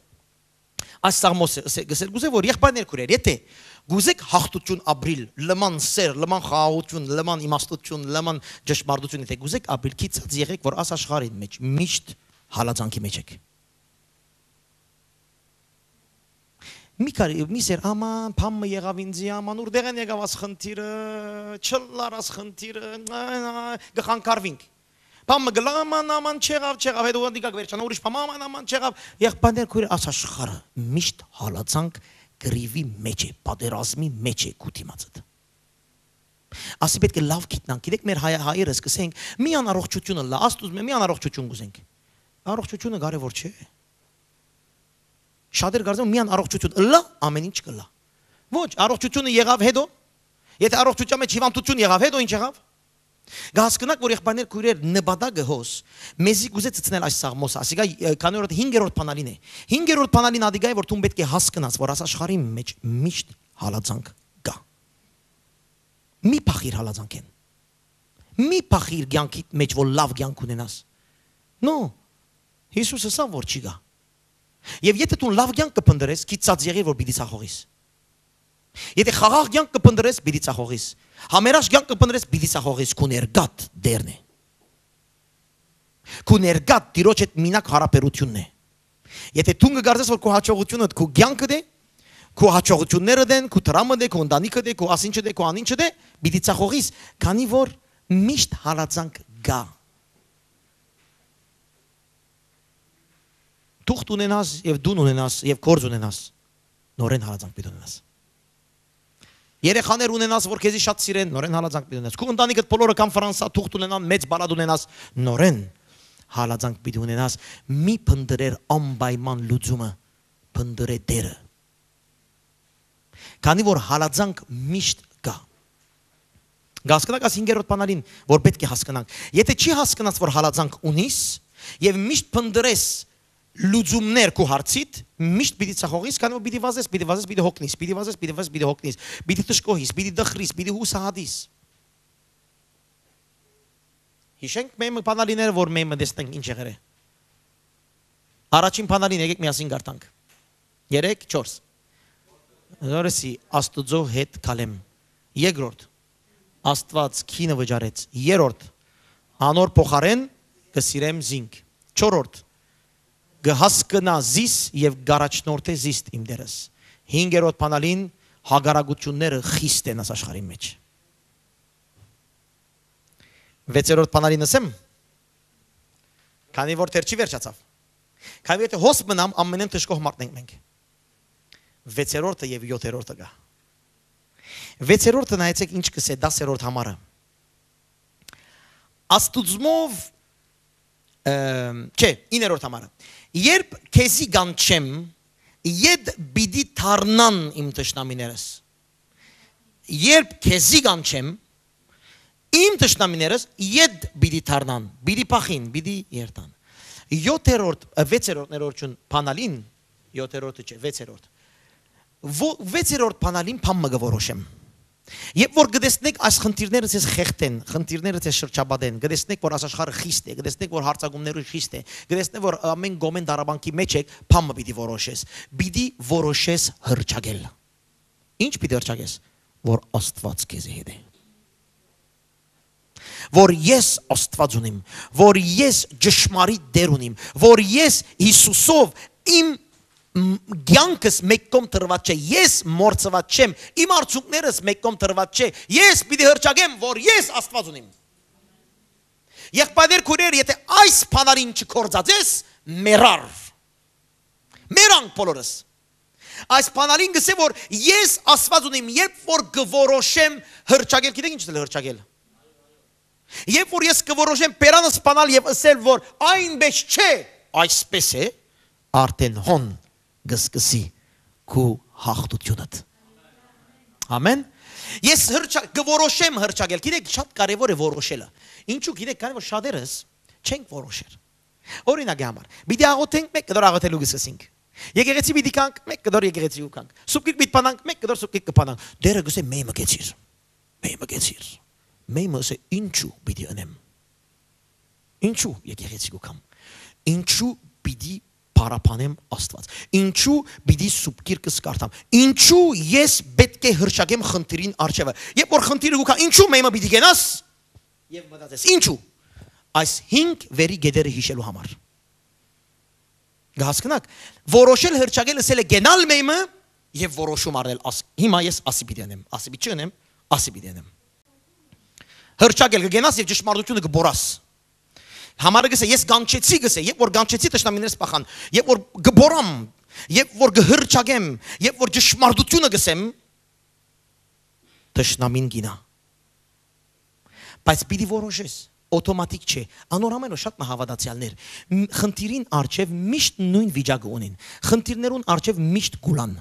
Այս Սաղմոսը ըսէ-, կ'ըսէ-, կ'ուզէ որ եղբայրներ քուրեր, եթե կ'ուզէք յաղթութիւն ապրիլ, լման սէր, լման խաղաղութիւն, լման իմաստութիւն, լման ճշմարտութիւն, եթե կ'ուզէք ապրիլ, գիծած եղէք որ աս աշխարհին մէջ միշտ հալածանքի մէջ եք։ Մի քար-, մի սեր, աման, բան մը եղաւ ինձի, աման, ուրդեղէն եկաւ աս խնդիրը, չլար աս խնդիրը, կը խանգարվինք։ Բան մը գլա, աման, աման, չեղաւ, չեղաւ, հետո դիկակ վերջանա, ուրիշ բան, աման, աման, չեղաv։ Եղբայրներ, քույրեր, աս աշխարհը միշտ հալածանք կռիվի մէջ է, պատերազմի մէջ է քու դիմացդ։ Ասի պէտք է լաւ գիտնանք, գիտեք, մեր հայ-, հայերս կ'ըսենք, մի անառողջութիւն ըլլայ, Աստուծմէ, մի անառողջութիւն կ'ուզենք։ Առողջութիւնը կարեւոր չէ։ Շատեր կարծում են, միան առողջութիւն ըլլայ, ամեն ինչ կ'ըլլայ։ Ոչ, առողջութիւնը եղաւ հետո։ Եթե առողջութեան մէջ հիվանդութիւն եղաւ, հետո ի՞նչ եղաւ։ Կ'հասկնաք, որ եղբայրներ, քույրեր, նպատակը հոս, մեզի կ'ուզէ ցցնել այս Սաղմոսը, ասիկա, ը, քանի որ հինգերորդ բանալին է։ Հինգերորդ բանալին ադիկա է, որ դուն պէտք է հասկնաս, որ աս աշխարհի մէջ միշտ հալածանք կայ։ Մի փախիր հալածանքէն։ Մի փախիր կեանքիդ մէջ, որ լաւ կեանք ունենաս։ No, Յիսուս ըսաւ, որ չի գայ։ Եւ եթե դու լաւ կեանք կը փնտռես, գիծած եղիր, որ պիտի ցախողիս։ Եթե խաղաղ կեանք կը փնտռես, պիտի ցախողիս։ Համերաշխ կեանք կը փնտռես, պիտի ցախողիս, քու ներկատ Տէրն է։ Քու ներկատ Տիրոջ հետ մինակ յարաբերութիւնն է։ Եթե դուն կը կարծես, որ քու յաջողութիւնդ քու կեանքդ է, քու յաջողութիւններդ են, քու դրամդ է, քու ընտանիքդ է, քու ասինչդ է, քու անինչդ է, պիտի ցախողիս, քանի որ միշտ հալածանք կայ։ Թուղթ ունենաս եւ տուն ունենաս եւ գործ ունենաս, նորէն հալածանք պիտի ունենաս։ Երեխաներ ունենաս, որ քեզի շատ սիրեն, նորէն հալածանք պիտի ունենաս։ Քու ընտանիքդ բոլորը կամ Ֆրանսա թուղթ ունենան, մեծ բալատ ունենաս, նորէն հալածանք պիտի ունենաս։ Մի փնտռեր անպայման լուծումը, փնտռէ Տէրը։ Քանի որ հալածանք միշտ կայ։ Կ'հասկնաք այս հինգերորդ բանալին, որ պէտք է հասկնանք։ Եթե չի հասկնած, որ հալածանք ունիս, եւ միշտ փնտռես լուծումներ քու հարցիդ, միշտ պիտի ցախողիս, քանի որ պիտի վազես, պիտի վազես, պիտի հոգնիս, պիտի վազես, պիտի վազես, պիտի հոգնիս, պիտի դժգոհիս, պիտի դխրիս, պիտի յուսահատիս։ Յիշենք մեր մը բանալիները, որ մեր մը տեսնենք ինչ եղեր է։ Առաջին բանալին, եկեք միասին կարդանք։ Երեք, չորս։ Զորսի Աստուծո հետ քալեմ։ Երկրորդ, Աստված քինը վճարեց։ Երրորդ, անոր փոխարեն կը սիրեմ զինք։ Չորրորդ, կը հասկնայ զիս եւ կ'առաջնորդէ զիս իմ Տէրս։ Հինգերորդ բանալին, հակառակությունները խիստ են աս աշխարհի մէջ։ Վեցերորդ բանալին ըսեմ, քանի որ դեռ չի վերջացաւ։ Քանի որ եթե հոս մնամ, ամենէն դժգոհ մարդն ենք մենք։ Վեցերորդը եւ յոթերորդը կայ։ Վեցերորդը նայեցեք ինչ կ'ըսէ, դասերորդ համարը։ Աստուծմով, ըմ, չէ, իներորդ համարը։ Երբ քեզի կանչեմ, ետ պիտի դառնան իմ թշնամիներս։ Երբ քեզի կանչեմ, իմ թշնամիներս ետ պիտի դառնան, պիտի փախին, պիտի երթան։ Յոթերորդ, ը, վեցերորդ ներողություն, բանալին, յոթերորդը չէ, վեցերորդ։ Ո-, վեցերորդ բանալին բան մը կը որոշեմ։ Երբ որ կտեսնեք այս խնդիրները ձեզ խեղդեն, խնդիրները ձեզ շրջապատեն, կտեսնեք, որ այս աշխարհը խիստ է, կտեսնեք, որ հարցակումները խիստ է, կտեսնեք, որ ամեն կողմէն դարաբանքի մեջ եք, բան մը պիտի որոշես։ Պիտի որոշես հռչակել։ Ինչ պիտի հռչակես, որ Աստված քեզի հետ է։ Որ ես Աստված ունիմ, որ ես ճշմարիտ Տեր ունիմ, որ ես Յիսուսով իմ, մ, կյանքս մեկ կողմ դրված չէ, ես մոռցված չեմ, իմ արդյունքներս մեկ կողմ դրված չէ, ես պիտի հռչակեմ, որ ես Աստված ունիմ։ Եղբայրներ, քույրեր, եթե այս բանալին չկործածես, մեռար։ Մեռանք բոլորս։ Այս բանալին կ'ըսէ, որ ես Աստված ունիմ, երբ որ կը որոշեմ հռչակել, գիտեք ինչ ըլլայ հռչակել։ Երբ որ ես կը որոշեմ բերանս սպանալ եւ ըսել, որ այնպէս չէ, այսպէս է, արդեն հոն կը սկսի քու հաղթութիւնդ։ Ամեն։ Ես հրճա-, կը որոշեմ հրճակել։ Գիտեք, շատ կարեւոր է որոշելը։ Ինչու՞, գիտեք, քանի որ շատերս չենք որոշեր։ Օրինակի համար, պիտի աղոթենք, մէկ կտոր աղոթելու կը սկսենք։ Եկեղեցի պիտի գանք, մէկ կտոր եկեղեցի կու գանք։ Սուպկիք պիտի փանանք, մէկ կտոր սուպկիք կը փանանք։ Տէրը կ'ըսէ, «Մէյմը կեցիր, մէյմը կեցիր»։ Մէյմը ըսէ, «Ինչու պիտի ընեմ»։ Ինչու եկեղեցի կու գամ։ Ինչու պիտի փառաբանեմ Աստուած։ Ինչու պիտի սուպկիրքս կարդամ։ Ինչու ես պէտք է հրճակեմ խնդիրին առջեւը։ Երբ որ խնդիրը կու գայ, ինչու մէյմը պիտի գնաս։ Եւ մտածես, ինչու։ Այս հինգ վերի գետերը հիշելու համար։ Կը հասկնաք, որոշել հրճակել ըսել է գենալ մէյմը եւ որոշում առնել, աս-, հիմա ես ասի պիտի ընեմ, ասի պիտի չընեմ, ասի պիտի ընեմ։ Հրճակել կը գնաս եւ ճշմարտությունը կը բորաս։ Համարը գսե, ես գանչեցի գսե, երբ որ գանչեցի, թշնամիներս պախան, երբ որ կը բորամ, երբ որ կը հրճակեմ, երբ որ ճշմարտությունը գսեմ, թշնամին գինա։ Բայց պիտի որոշես, օտոմատիկ չէ։ Անոր համար որ շատ մը հաւատացեալներ, մ-, խնդիրին առջեւ միշտ նոյն վիճակը ունին։ Խնդիրներուն առջեւ միշտ կուլան։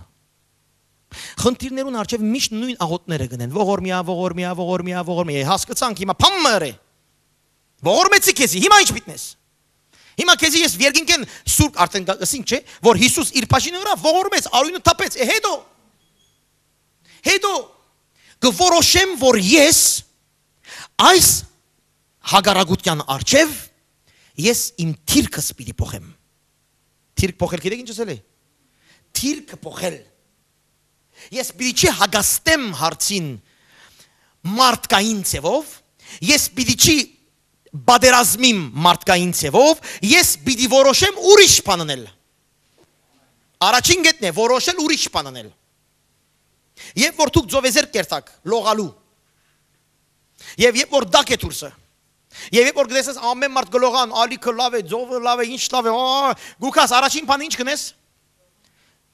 Խնդիրներուն առջեւ միշտ նոյն աղոթները գնեն։ Ողորմիա, ողորմիա, ողորմիա, ողորմիա։ Հասկացանք հիմա փամմը ըրե։ Ողորմեցի քեզի, հիմա ի՞նչ պիտնես։ Հիմա քեզի ես երկինքեն սուրբ արդեն գա-, ասինք չէ, որ Հիսուս իր բաժինը ըրաւ, ողորմեց, արիւնը թափեց, է հետո։ Հետո կը որոշեմ, որ ես այս հակառակության առջեւ ես իմ թիրքս պիտի փոխեմ։ Թիրք փոխել, գիտեք ինչ ասել է։ Թիրքը փոխել։ Ես պիտի չի հագաստեմ հարցին մարդկային ձևով, ես պիտի չի պատերազմիմ մարդկային ձևով, ես պիտի որոշեմ ուրիշ բան անել։ Առաջին գետն է, որոշել ուրիշ բան անել։ Երբ որ դուք ծովեզերք կերտաք լողալու, եւ երբ որ դակ է դուրսը, եւ երբ որ գտեսես ամեն մարդ գլողան, ալիքը լավ է, ծովը լավ է, ինչ լավ է, ա, գուքաս, առաջին բանը ինչ կնես։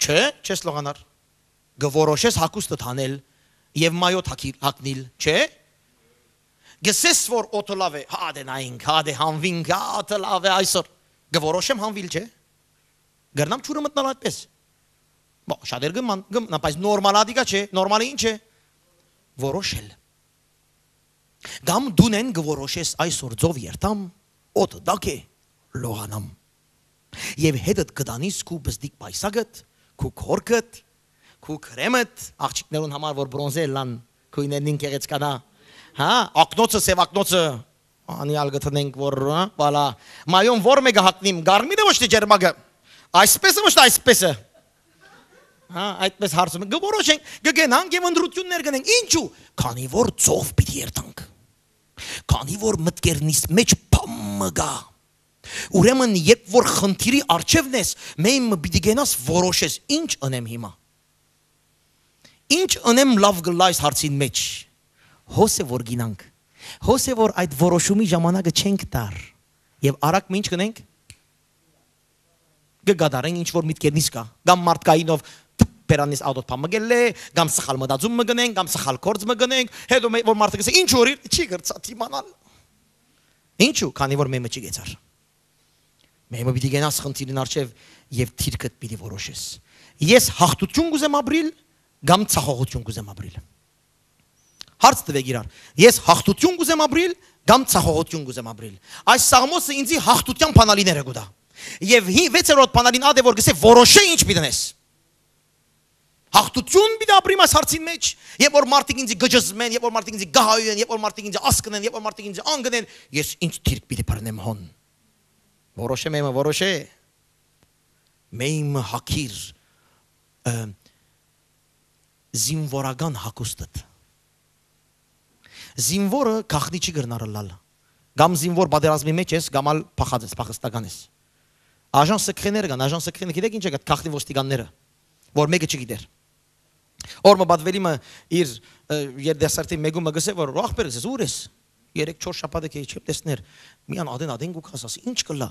Չէ, չես լողանար։ Կը որոշես հագուստը թանել եւ մայոտ հագի-, հագնիլ, չէ՞։ Գսես, որ օդը լավ է, հա դե նայինք, հա դե հանվինք, հա օդը լավ է այսօր։ Կը որոշեմ հանվել, չէ՞։ Կրնամ ջուրը մտնալ այդպես։ Բա, շատեր կը ման-, կը մնան, բայց նորմալ ադիկա չէ, նորմալը ինչ է։ Որոշել։ Կամ դունեն կը որոշես այսօր ծով երթամ, օդը դակ է, լողանամ։ Եւ հետդ կը տանիս քու բզդիկ պայսակդ, քու քորքդ, քու քրեմդ, աղջիկներուն համար որ բրոնզե ըլլան, քույներնին գեղեցկանա, հա, ակնոցը, սեւ ակնոցը, անիալ կը տնենք որ, հա, վալա, մայոն որ մեկը հագնիմ, գարմիրը ոչ թե ջերմակը, այսպես է ոչ թե այսպես է, հա, այդպես հարցում, կը որոշենք, կը գնանք եւ ընտրություններ կնենք, ինչու, քանի որ ծով պիտի երթանք, քանի որ մտքերնիս մեջ փամը գա, ուրեմն երբ որ խնդիրի առջեւն ես, մէյմը պիտի գնաս որոշես, ինչ ընեմ հիմա։ Ինչ ընեմ լաւ կլա այս հարցին մեջ։ Հոս է որ գինանք։ Հոս է որ այդ որոշումի ժամանակը չենք տար։ Եւ արագ մը ինչ կնենք։ Կը գադարենք ինչ որ միտքերնից կա, կամ մարդկայինով թփ բերանից ադոտ փամը գելլե, կամ սխալ մտածում մը գնենք, կամ սխալ գործ մը գնենք, հետո մե-, որ մարդը կսե, ինչ որ իր չի գրծա դիմանալ։ Ինչու, քանի որ մեմը չի գեցար։ Մեմը պիտի գնաս խնդիրին առջև եւ թիրքդ պիտի որոշես։ Ես հաղթություն կուզեմ ապրիլ, կամ ցախողություն կուզեմ ապրիլ։ Հարց տվեք իրար։ Ես հաղթություն կուզեմ ապրիլ, կամ ցախողություն կուզեմ ապրիլ։ Այս սաղմոսը ինձի հաղթության բանալիները կուտա։ Եւ հի-, վեցերորդ բանալին ադե որ գսե որոշե ինչ պիտի նես։ Հաղթություն պիտի ապրիմ այս հարցին մեջ, երբ որ մարդիկ ինձի գճզմեն, երբ որ մարդիկ ինձի գահայեն, երբ որ մարդիկ ինձի ասկնեն, երբ որ մարդիկ ինձի անգնեն, ես ինչ թիրք պիտի բռնեմ հոն։ Որոշեմ եմը, որոշե։ Մեյմը հակիր, ը, զինվորական հակուստդ։ Զինվորը գախնի չի կրնար ըլլալ։ Կամ զինվոր պատերազմի մեջ ես, կամ ալ փախած ես, փախստական ես։ Աժան սքրեները կան, աժան սքրեները, գիտեք ինչ է գա, գախնի ոստիկանները, որ մեկը չգիտեր։ Օրը պատվելի մը իր, ը, երիտասարդի մեկումը գսե, որ ախպեր ես, ուր ես։ Երեք չոր շաբաթը քեի չեմ տեսներ։ Միան ադեն, ադեն գուքաս, ասի, ինչ կլա։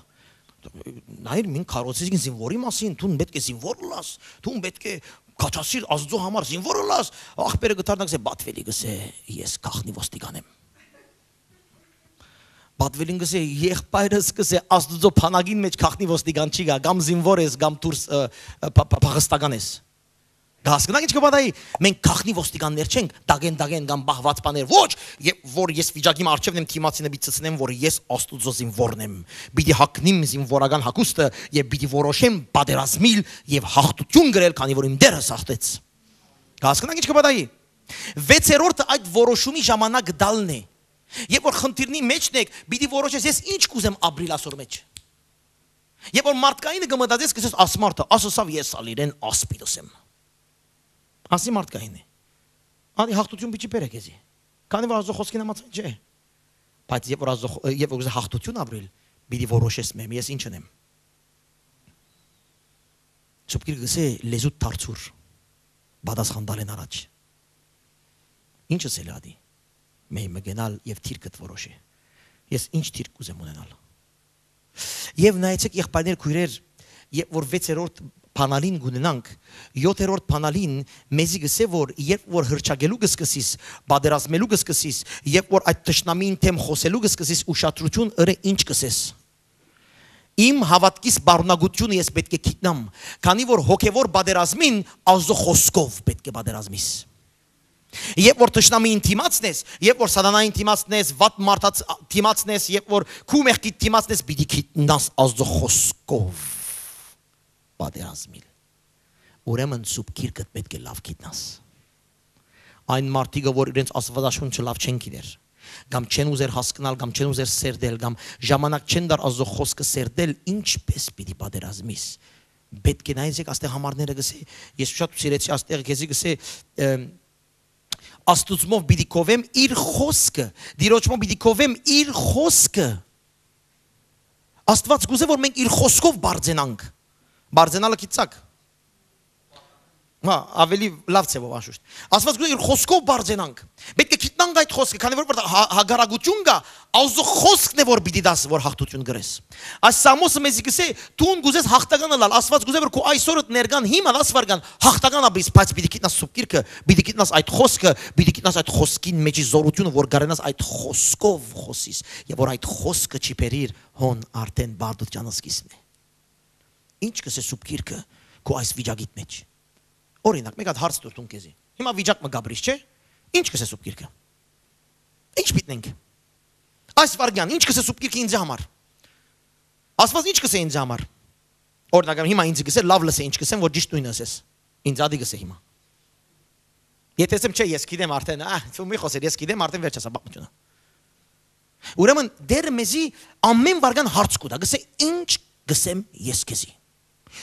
Նայր, մին քարոցից ինձ զինվորի մասին, դուն պետք է զինվոր լաս, դուն պետք է քաչասիր Աստծո համար զինվոր լաս, ախպերը գտարնակ զե պատվելի գսե, ես գախնի ոստիկան եմ։ Պատուելին կ'ըսէ, եղբայրս կ'ըսէ, Աստուծոյ բանակին մէջ գաղտնի ոստիկան չի գայ, կամ զինուոր ես, կամ դուրս, ը, ը, փա-, փա-, փախստական ես։ Կ'հասկնաք ինչ կը պատահի։ Մենք գաղտնի ոստիկաններ չենք, դագեն-դագեն կամ պահուած բաներ, ոչ, եւ որ ես վիճակի մը առջեւ եմ դիմացի նպի ցցնեմ, որ ես Աստուծոյ զինուորն եմ, պիտի հագնիմ զինուորական հագուստը եւ պիտի որոշեմ պատերազմիլ եւ հաղթութիւն գրել, քանի որ իմ Տէրս հաղթեց։ Կ'հասկնաք ինչ կը պատահի։ Վեցերորդը այդ որոշումի ժամանակ տալն է։ Երբ որ խնդիրնի մեջն եք, պիտի որոշես, ես ինչ կ'ուզեմ ապրիլ ասոր մեջ։ Երբ որ մարդկայինը կը մտածես, կ'ըսես, «Աս մարդը, աս ըսաւ, ես ալ իրեն ասպիտ ըսեմ»։ Ասի մարդկայինը։ Անի հաղթութիւն պիտի բերէ քեզի։ Քանի որ Աստուծոյ խօսքին համաձայն չէ։ Բայց երբ որ Աստուծոյ խօ-, երբ որ կ'ուզես հաղթութիւն ապրիլ, պիտի որոշես մեմ, ես ինչ ընեմ։ Սուրբ Գիրքը կ'ըսէ, «Լեզուդ դարձուր, պատասխան տալէն առաջ»։ Ինչ ըսել ատի։ Մէյ մը գնալ եւ թիրքդ որոշէ։ Ես ինչ թիրք կ'ուզեմ ունենալ։ Եւ նայեցեք, եղբայրներ, քոյրեր, երբ որ վեցերորդ բանալին կ'ունենանք, յոթերորդ բանալին մեզի կ'ըսէ, որ երբ որ հռչակելու կ'սկսիս, պատերազմելու կ'սկսիս, երբ որ այդ թշնամիին դէմ խօսելու կ'սկսիս, ուշադրութիւն ըրէ ինչ կ'ըսես։ Իմ հաւատքիս պարունակութիւնը ես պէտք է գիտնամ, քանի որ հոգեվոր պատերազմին Աստուծոյ խօսքով պէտք է պատերազմիս։ Երբ որ թշնամիին դիմացնես, երբ որ սատանային դիմացնես, վատ մարդաց դիմացնես, երբ որ քու մեղքիդ դիմացնես, պիտի գիտնաս Աստուծոյ խօսքով պատերազմիլ։ Ուրեմն Սուրբ Գիրքդ պէտք է լաւ գիտնաս։ Այն մարդիկը, որ իրենց Աստուածաշունչը լաւ չեն գիտեր, կամ չեն ուզեր հասկնալ, կամ չեն ուզեր սերտել, կամ ժամանակ չեն տար Աստուծոյ խօսքը սերտել, ինչպէս պիտի պատերազմիս։ Պէտք է նայեցեք, աստեղ համարները կ'ըսէ, ես շատ սիրեցի, աստեղ քեզի կ'ըսէ, ը, Աստուծմով պիտի կովեմ իր խօսքը, Տիրոջմով պիտի կովեմ իր խօսքը։ Աստուած կ'ուզէ, որ մենք իր խօսքով բարձենանք։ Բարձենալը գիտցաք։ Հա, ավելի լաւ ձևով անշուշտ։ Աստուած կ'ուզէ իր խօսքով բարձենանք։ Պէտք է գիտնանք այդ խօսքը, քանի որ, որ հա-, հակառակութիւն կայ, Աստուծոյ խօսքն է, որ պիտի դաս, որ հաղթութիւն կրես։ Այս Սամոսը մեզի կ'ըսէ, դուն կ'ուզես հաղթական ըլլալ, Աստուած կ'ուզէ, որ քու այսօրդ ներկան հիմա, դաս վարգան, հաղթական ապրիս, բայց պիտի գիտնաս Սուրբ Գիրքը, պիտի գիտնաս այդ խօսքը, պիտի գիտնաս այդ խօսքին մեջի զօրութիւնը, որ կարենաս այդ խօսքով խօսիս, եւ որ այդ խօսքը չի բերիր, հոն արդէն բարդութեան սկիզբն է։ Ինչ կ'ըսէ Սուրբ Գիրքը քու այս վիճակիդ մեջ։ Օրինակ, մէկ հատ հարց տուր դուն քեզի։ Հիմա վիճակ մը կ'ապրիս, չէ՞։ Ինչ կ'ըսէ Սուրբ Գիրքը։ Ինչ պիտի ընենք։ Այս վարգեան, ինչ կ'ըսէ Սուրբ Գիրքը ինձի համար։ Աստուած ինչ կ'ըսէ ինձի համար։ Օրինակ, հիմա ինձ կ'ըսէ, լաւ լսէ, ինչ կ'ըսեմ, որ ճիշդ նոյնը ըսես։ Ինձ ատի կ'ըսէ հիմա։ Եթե ասեմ, չէ, ես գիտեմ արդէն, ա, դու մի խոսեր, ես գիտեմ արդէն, վերջացա պատմությունը։ Ուրեմն Տէրը մեզի ամէն վարգան հարց կու տայ, կ'ըսէ, «Ինչ կ'ըսեմ ես քեզի»։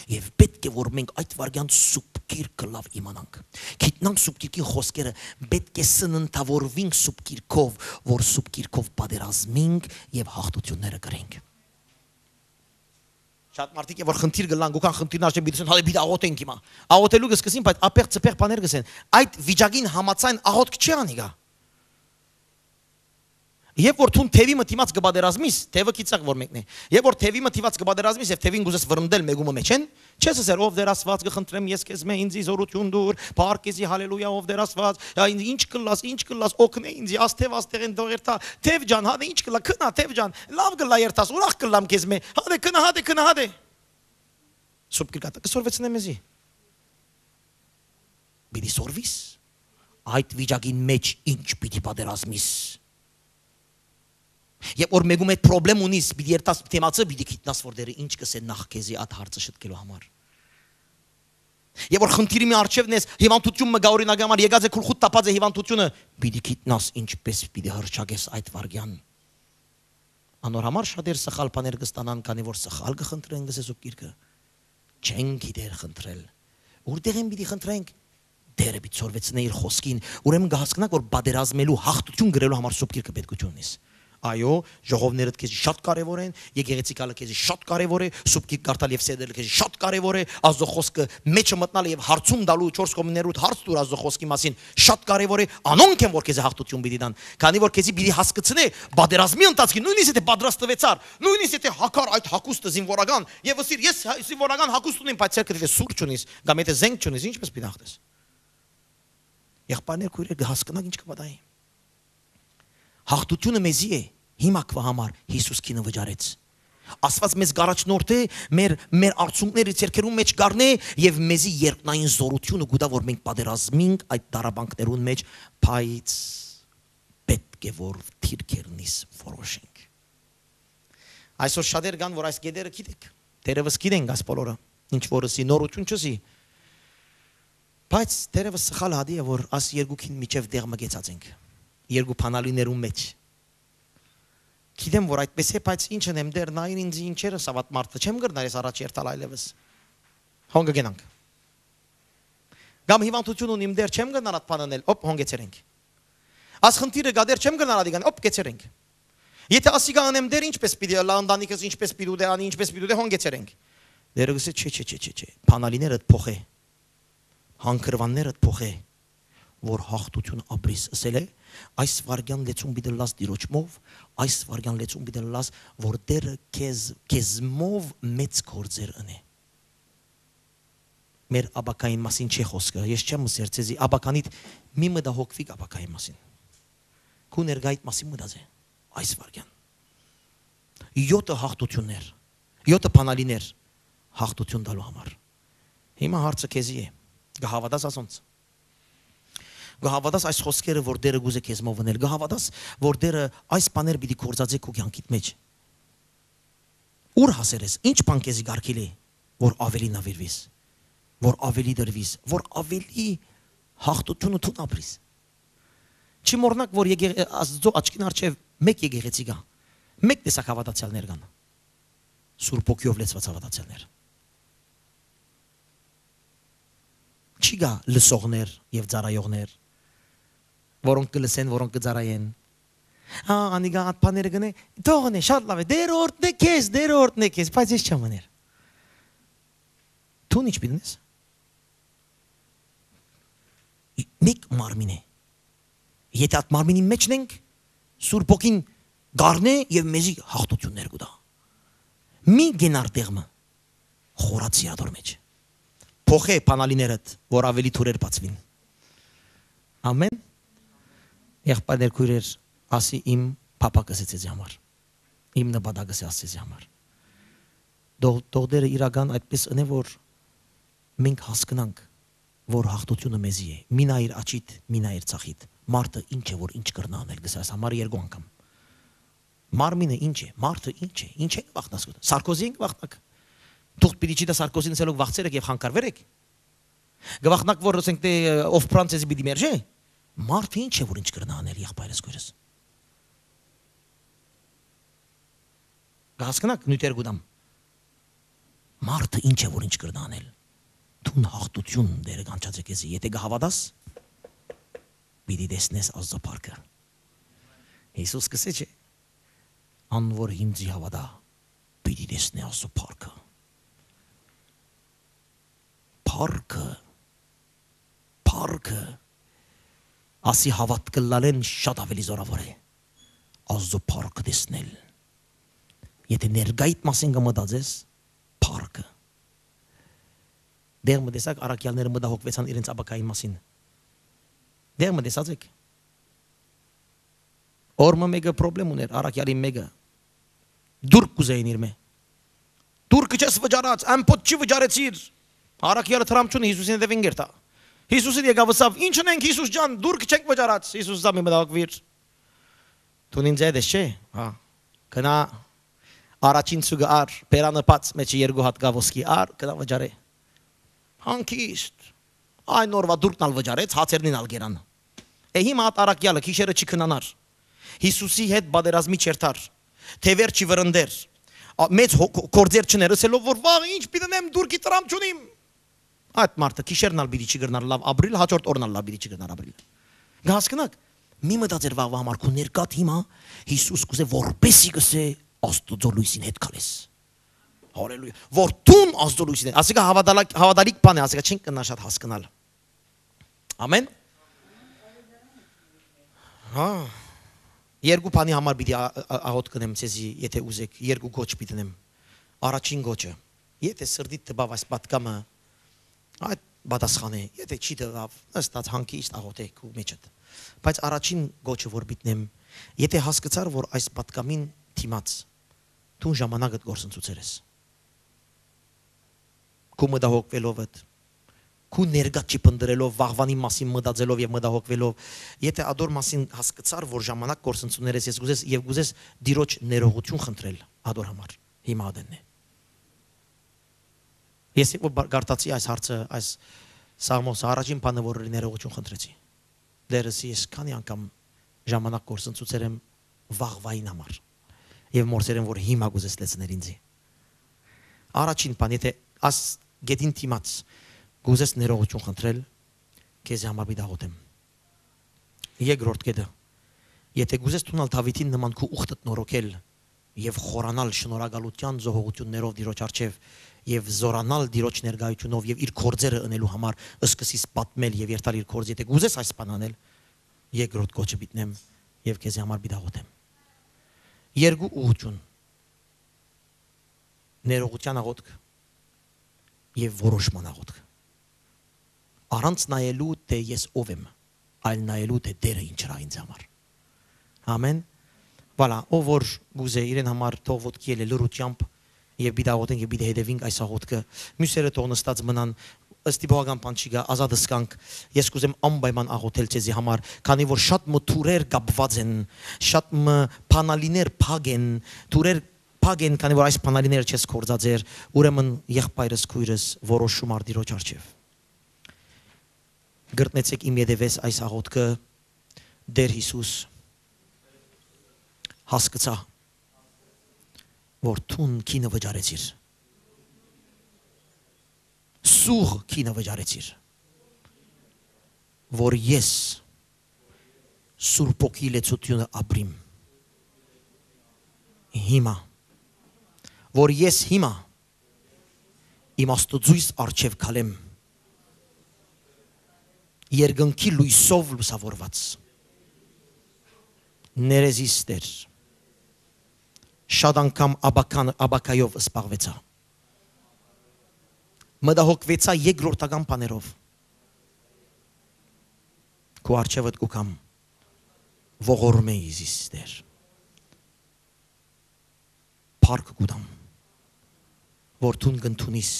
Եւ պէտք է որ մենք այդ վարգեան Սուրբ Գիրքը լաւ իմանանք։ Գիտնանք Սուրբ Գիրքին խօսքերը, պէտք է սննդաւորուինք Սուրբ Գիրքով, որ Սուրբ Գիրքով պատերազմինք եւ հաղթութիւնները կրենք։ Շատ մարդիկ է որ խնդիր կ'ըլլան, գուքան խնդիրն արջեն պիտի ասեն, «Հալէ պիտի աղօթենք հիմա»։ Աղօթելու կ'սկսին, բայց ափեղ-ծփեղ բաներ կ'ըսեն։ Այդ վիճակին համաձայն աղօթք չի անիկա։ Երբ որ դուն թեւի մը դիմաց կը պատերազմիս, թեւը գիտցաք որ մեկն է։ Երբ որ թեւի մը դիմաց կը պատերազմիս եւ թեւին կ'ուզես վրընդել մէկու մը մէջէն, չես ըսեր, «Ով Տէր Աստուած, կը խնդրեմ ես քեզմէ, ինձի զօրութիւն տուր, փառք քեզի, հալելույա, ով Տէր Աստուած, ա, ինչ կ'ըլլաս, ինչ կ'ըլլաս, օգնէ ինձի, աս թեւ, աստեղէն թող երթայ, թեւ ջան, հատէ ինչ կ'ըլլայ, քնա, թեւ ջան, լաւ կ'ըլլայ երթաս, ուրախ կ'ըլլամ քեզմէ, հատէ քնա, հատէ քնա, հատէ»։ Սուրբ Գիրքը կը սորվեցնէ մեզի։ Պիտի սորվիս։ Այդ վիճակին մեջ ինչ պիտի պատերազմիս։ Երբ որ մեկու մէջ պրոբլեմ ունիս, պիտի երթաս թեմացը, պիտի գիտնաս, որ Տէրը ինչ կ'ըսէ նախ քեզի այդ հարցը շտկելու համար։ Երբ որ խնդիրի մի առջեւն ես, հիվանդութիւն մը գայ, օրինակի համար, եկած է գլխուդ տապած է հիվանդութիւնը, պիտի գիտնաս ինչպէս պիտի հռչակես այդ վարգեան։ Անոր համար շատեր սխալ բաներ կ'ստանան, քանի որ սխալ կը խնդրեն, կ'ըսէ Սուրբ Գիրքը։ Չեն գիտեր խնդրել։ Ուրտեղ են պիտի խնդրենք, Տէրը պիտի սորվեցնէ իր խօսքին, ուրեմն կը հասկնաք, որ պատերազմելու, հաղթութիւն գրելու համար Սուրբ Գիրքը պետքութիւն ունիս։ Այո, ժողովներդ քեզի շատ կարեւոր են, եկեղեցի գալը քեզի շատ կարեւոր է, Սուրբ Գիրք կարդալ եւ սերտել քեզի շատ կարեւոր է, Աստուծոյ խօսքը մեջը մտնալը եւ հարցում տալու, չորս կողմներուդ հարց տուր Աստուծոյ խօսքի մասին, շատ կարեւոր է, անոնք են, որ քեզի հաղթութիւն պիտի տան, քանի որ քեզի պիտի հասկցնէ պատերազմի ընթացքին, նոյնիսկ եթե պատրաստուեցար, նոյնիսկ եթե հագար այդ հագուստը զինվորական, եւ ըսիր, «Ես հա-, զինվորական հագուստ ունեմ, բայց ձեռքդ եթե սուր չունիս, կամ եթե զենք չունիս, ինչպէս պիտի հաղթես»։ Եղբայրներ, քոյրեր, կը հասկնաք ինչ կը պատահի։ Հաղթութիւնը մեզի է, Հիմա քուի համար Յիսուս կինը վճարեց։ Աստուած մեզ կ'առաջնորդէ, մեր, մեր արցունքները ձեռքերուն մէջ կ'առնէ եւ մեզի երկնային զօրութիւնը կու տայ, որ մենք պատերազմենք այդ տառապանքներուն մէջ, բայց պէտք է որ դիրքերնից որոշենք։ Այսօր շատեր կան, որ այս կետերը գիտեք, դերևս գիտենք այս բոլորը, ինչ որ ըսի, նորութիւն չըսի, բայց դերևս սխալ հատի է, որ աս երկուքին միջեւ դեղ մը կեցած ենք, երկու բանալիներուն մէջ։ Գիտեմ, որ այդպես է, բայց ինչ ընեմ, դեռ նային ինձ, ինչեր ըսաւ այդ մարդը, չեմ կրնար ես առաջ երթալ այլևս։ Հոն կը գնանք։ Կամ հիվանդութիւն ունիմ, դեռ չեմ կրնար այդ բան ընել, օպ, հոն կեցեր ենք։ Աս խնդիրը կա, դեռ չեմ կրնար ադի գան, օպ, կեցեր ենք։ Եթե ասիկա ընեմ, դեռ ինչպես պիտի ըլլայ, ընտանիքս ինչպես պիտի ուտե, անի ինչպես պիտի ուտե, հոն կեցեր ենք։ Դերը կսե, չէ, չէ, բանալիներդ փոխէ, հանգրուաններդ փոխէ, որ հաղթութիւն ապրիս, ըսել է, այս վարգեան լեցուն պիտի լաս Տիրոջմով, այս վարգեան լեցուն պիտի լաս, որ Տերը քեզ, քեզմով մեծ գործեր ընէ։ Մեր ապագային մասին չէ խոսքը, ես չեմ ըսեր ձեզի, ապագանիդ մի մտահոգվիք ապագայի մասին։ Քու ներկայիդ մասին մտածէ, այս վարգեան։ Յոթը հաղթութիւններ, յոթը բանալիներ հաղթութիւն տալու համար։ Հիմա հարցը քեզի է, կը հաւատաս ասոնց։ Կը հաւատաս այս խօսքերը, որ Տերը կուզէ քեզմով ընել, կը հաւատաս, որ Տերը այս բաներ պիտի գործածէ քու կեանքիդ մէջ։ Ուր հասեր ես, ինչ բան քեզի կարգիլ է, որ ավելի նավիրվիս, որ ավելի դրվիս, որ ավելի հաղթութիւնը դուն ապրիս։ Չի մոռնաք, որ եկեղ-, Աստծո աչքին առջեւ մեկ եկեղեցի կայ, մեկ տեսակ հաւատացեալներ կան, Սուրբ Հոգիով լեցուած հաւատացեալներ։ Չի գայ լսողներ եւ ծառայողներ, որոնք կը լսեն, որոնք կը ծառայեն։ Հա, անիկա ատ բաները կնե, թողնէ, շատ լաւ է, Տերը օրհնէ քեզ, Տերը օրհնէ քեզ, բայց ես չեմ ըներ։ Դուն ինչ պիտի ընես։ Մեկ մարմին է։ Եթե այդ մարմինին մէջն ենք, Սուրբ Հոգին կ'առնէ եւ մեզի հաղթութիւններ կու տայ։ Մի գնար տեղ մը, խորացի ատոր մէջ։ Փոխէ բանալիներդ, որ ավելի թուրեր բացուին։ Ամեն։ Եղբայրներ, քոյրեր, ասի իմ փափակս է ձեզի համար, իմ նպատակս է Աստծեզի համար։ Թող, թող Տերը իրական այդպես ընէ, որ մենք հասկնանք, որ հաղթութիւնը մեզի է։ Մի նայիր աչիդ, մի նայիր ցախիդ։ Մարդը ինչ է, որ ինչ կրնա անել, կսա այս համար երկու անգամ։ Մարմինը ինչ է, մարդը ինչ է, ինչ է կվախնաս, Սարկոզի ենք վախնակ։ Թուղթ պիտի չի դա Սարկոզին, ասելով վախցեր եք եւ խանգարվեր եք։ Կվախնակ, որ ասենք, դե, ով Ֆրանսիզի պիտի մերժե։ Մարդը ինչ է, որ ինչ կրնա անել, եղբայրս, քոյրս։ Կհասկնաք նիւթեր կու տամ։ Մարդը ինչ է, որ ինչ կրնա անել։ Դուն հաղթութիւն Տերը կանչած է քեզի, եթե կհաւատաս, պիտի տեսնես Աստծո փառքը։ Յիսուս կսե չէ, ան որ ինձի հաւատայ, պիտի տեսնէ Աստծո փառքը։ Փառքը, փառքը, ասի հաւատքը լալեն շատ ավելի զօրաւոր է, Աստծո փառքը տեսնել։ Եթե ներկայիդ մասին կը մտածես, փառքը։ Դեղ մը տեսակ, առաքյալները մտահոգվեցան իրենց ապագային մասին։ Դեղ մը տեսած եք։ Օր մը մեկը պրոբլեմ ուներ, առաքյալին մեկը։ Դուրկ կուզեին իր մէ։ Դուրկը չես վճարած, ամբողջ չի վճարեցիր։ Առաքյալը տրամչունը Յիսուսին հետևին գերտա։ Յիսուսին եկավ ըսավ, «Ի՞նչ ունենք, Յիսուս ջան, դուրկը չենք վճարած»։ Յիսուս ըսաւ, «Մի մտահոգվիր։ Դուն ինձ հետ ես, չէ՞»։ Հա։ Գնա առաջին ցուկը առ, բերանը բաց, մեջը երկու հատ կա ոսկի, առ, գնա վճարէ։ Հանգիստ։ Այն օրվա դուրկն ալ վճարեց, հացերնին ալ գերան։ Է հիմա ատ առաքյալը գիշերը չի քնանար։ Յիսուսի հետ պատերազմի չերթար, թեւեր չի վրընդեր, ա, մեծ հո-, կո-, գործեր չներ, ըսելով որ վաղ ինչ պիտի նեմ, դուրկի տրամ չունիմ։ Այդ մարդը գիշերն ալ պիտի չի կրնար լավ ապրիլ, հաջորդ օրն ալ լավ պիտի չի կրնար ապրիլ։ Կհասկնաք, մի մտածեր վաղվա համար քու ներկատ հիմա, Յիսուս կուզէ որպեսի կսե Աստուծո լույսին հետ քալես։ Հալելույա։ Որ դուն Աստուծո լույսին հետ, ասիկա հավատալակ-, հավատալիք բան է, ասիկա չենք կնա շատ հասկնալ։ Ամեն։ Հա, երկու բանի համար պիտի ա-, ա-, աղոթ կնեմ ձեզի, եթե ուզեք, երկու կոչ պիտի նեմ։ Առաջին կոչը, եթե սրտիդ տպավ այս պատկամը, այդ պատասխան է, եթե չի տպավ, նստած հանգիստ աղոթեք ու մեջդ։ Բայց առաջին կոչը, որ պիտի նեմ, Եթէ հասկցար, որ այս պատկամին դիմաց դուն ժամանակդ կորսնցուցեր ես, քու մտահոգուելովդ, քու ներկա չփնտռելով, վաղուանի մասին մտածելով եւ մտահոգուելով, եթէ ադոր մասին հասկցար, որ ժամանակ կորսնցուներ ես, ես կուզես, եւ կուզես Տիրոջ ներողություն խնդրել ադոր համար, հիմա ատենն է։ Ես երբ որ բա-, կարդացի այս հարցը, այս Սաղմոսը, առաջին բանը, որ ըրի, ներողություն խնդրեցի։ Տէրս, ես քանի՞ անգամ ժամանակ կորսնցուցեր եմ վաղվային համար եւ մորցեր եմ, որ հիմա կուզես լեցնել ինձի։ Առաջին բան, եթէ աս գետին դիմաց կուզես ներողություն խնդրել, քեզի համար պիտի աղօթեմ։ Երկրորդ կետը, եթէ կուզես դունալ Դաւիթին նման քու ուխտդ նորոգել եւ խորանալ շնորհակալութեան զոհողութիւններով Տիրոջ առջեւ եւ զօրանալ Տիրոջ ներկայութիւնով եւ իր գործերը ընելու համար, սկսես պատմել եւ երթալ իր գործ, եթէ կուզես այս բան անել, երկրորդ կոչը պիտի նեմ եւ քեզի համար պիտի աղօթեմ։ Երկու ուղղութիւն. ներողութեան աղօթք եւ որոշման աղօթք։ Առանց նայելու, թէ ես ով եմ, այլ նայելու, թէ Տէրը ինչ ըրաւ ինձ համար։ Ամեն։ Վալա, ով որ կուզէ իրեն համար, թող ոտքի ելէ լռութեամբ եւ պիտի աղօթենք եւ պիտի հետեւենք այս աղօթքը։ Միւսերը թող նստած մնան, ըստ իբողական բան չի գա, ազատ ըսկանք։ Ես կուզեմ անպայման աղօթել ձեզի համար, քանի որ շատ մը թուրեր կապված են, շատ մը բանալիներ փակ են, թուրեր փակ են, քանի որ այս բանալիները չես կործած էր, ուրեմն եղբայրս, քոյրս, որոշում առ Տիրոջ առջեւ։ Կրտնեցեք իմ ետևէս այս աղօթքը. «Տէր Յիսուս, հասկցայ, որ դուն գինը վճարեցիր, սուղ գինը վճարեցիր, որ ես Սուրբ Հոգի լեցութիւնը ապրիմ։ Հիմա, որ ես հիմա իմ Աստուծոյս առջեւ քալեմ, երկնքի լոյսով լուսաւորուած։ Ներեզիս Տէր, շատ անգամ աբական-, աբակայով սպաղուեցայ, մտահոգուեցայ երկրորդական բաներով։ Քու առջեւդ կու գամ, ողորմէ զիս, Տէր։ Փառք կու տամ, որ դուն կ'ընդունիս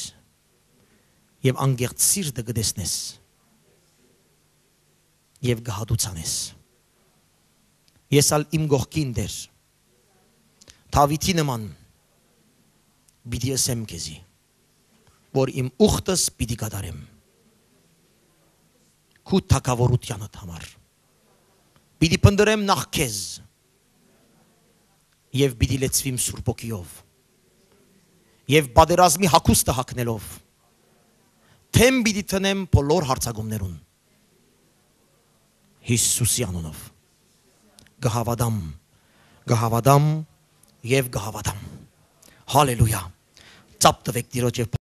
եւ անկեղծ սիրտը կը տեսնես եւ կը հատուցանես։ Ես ալ իմ կողքին, Տէր, Դաւիթի նման պիտի ըսեմ քեզի, որ իմ ուխտս պիտի կատարեմ քու թագաւորութեանդ համար։ Պիտի փնտռեմ նախ քեզ եւ պիտի լեցուիմ Սուրբ Հոգիով եւ պատերազմի հագուստը հագնելով, դէմ պիտի դնեմ բոլոր հարձակումներուն։ Յիսուսի անունով կը հաւատամ, կը հաւատամ եւ կը հաւատամ։ Հալելույա։ Ծափ տուէք Տիրոջ եւ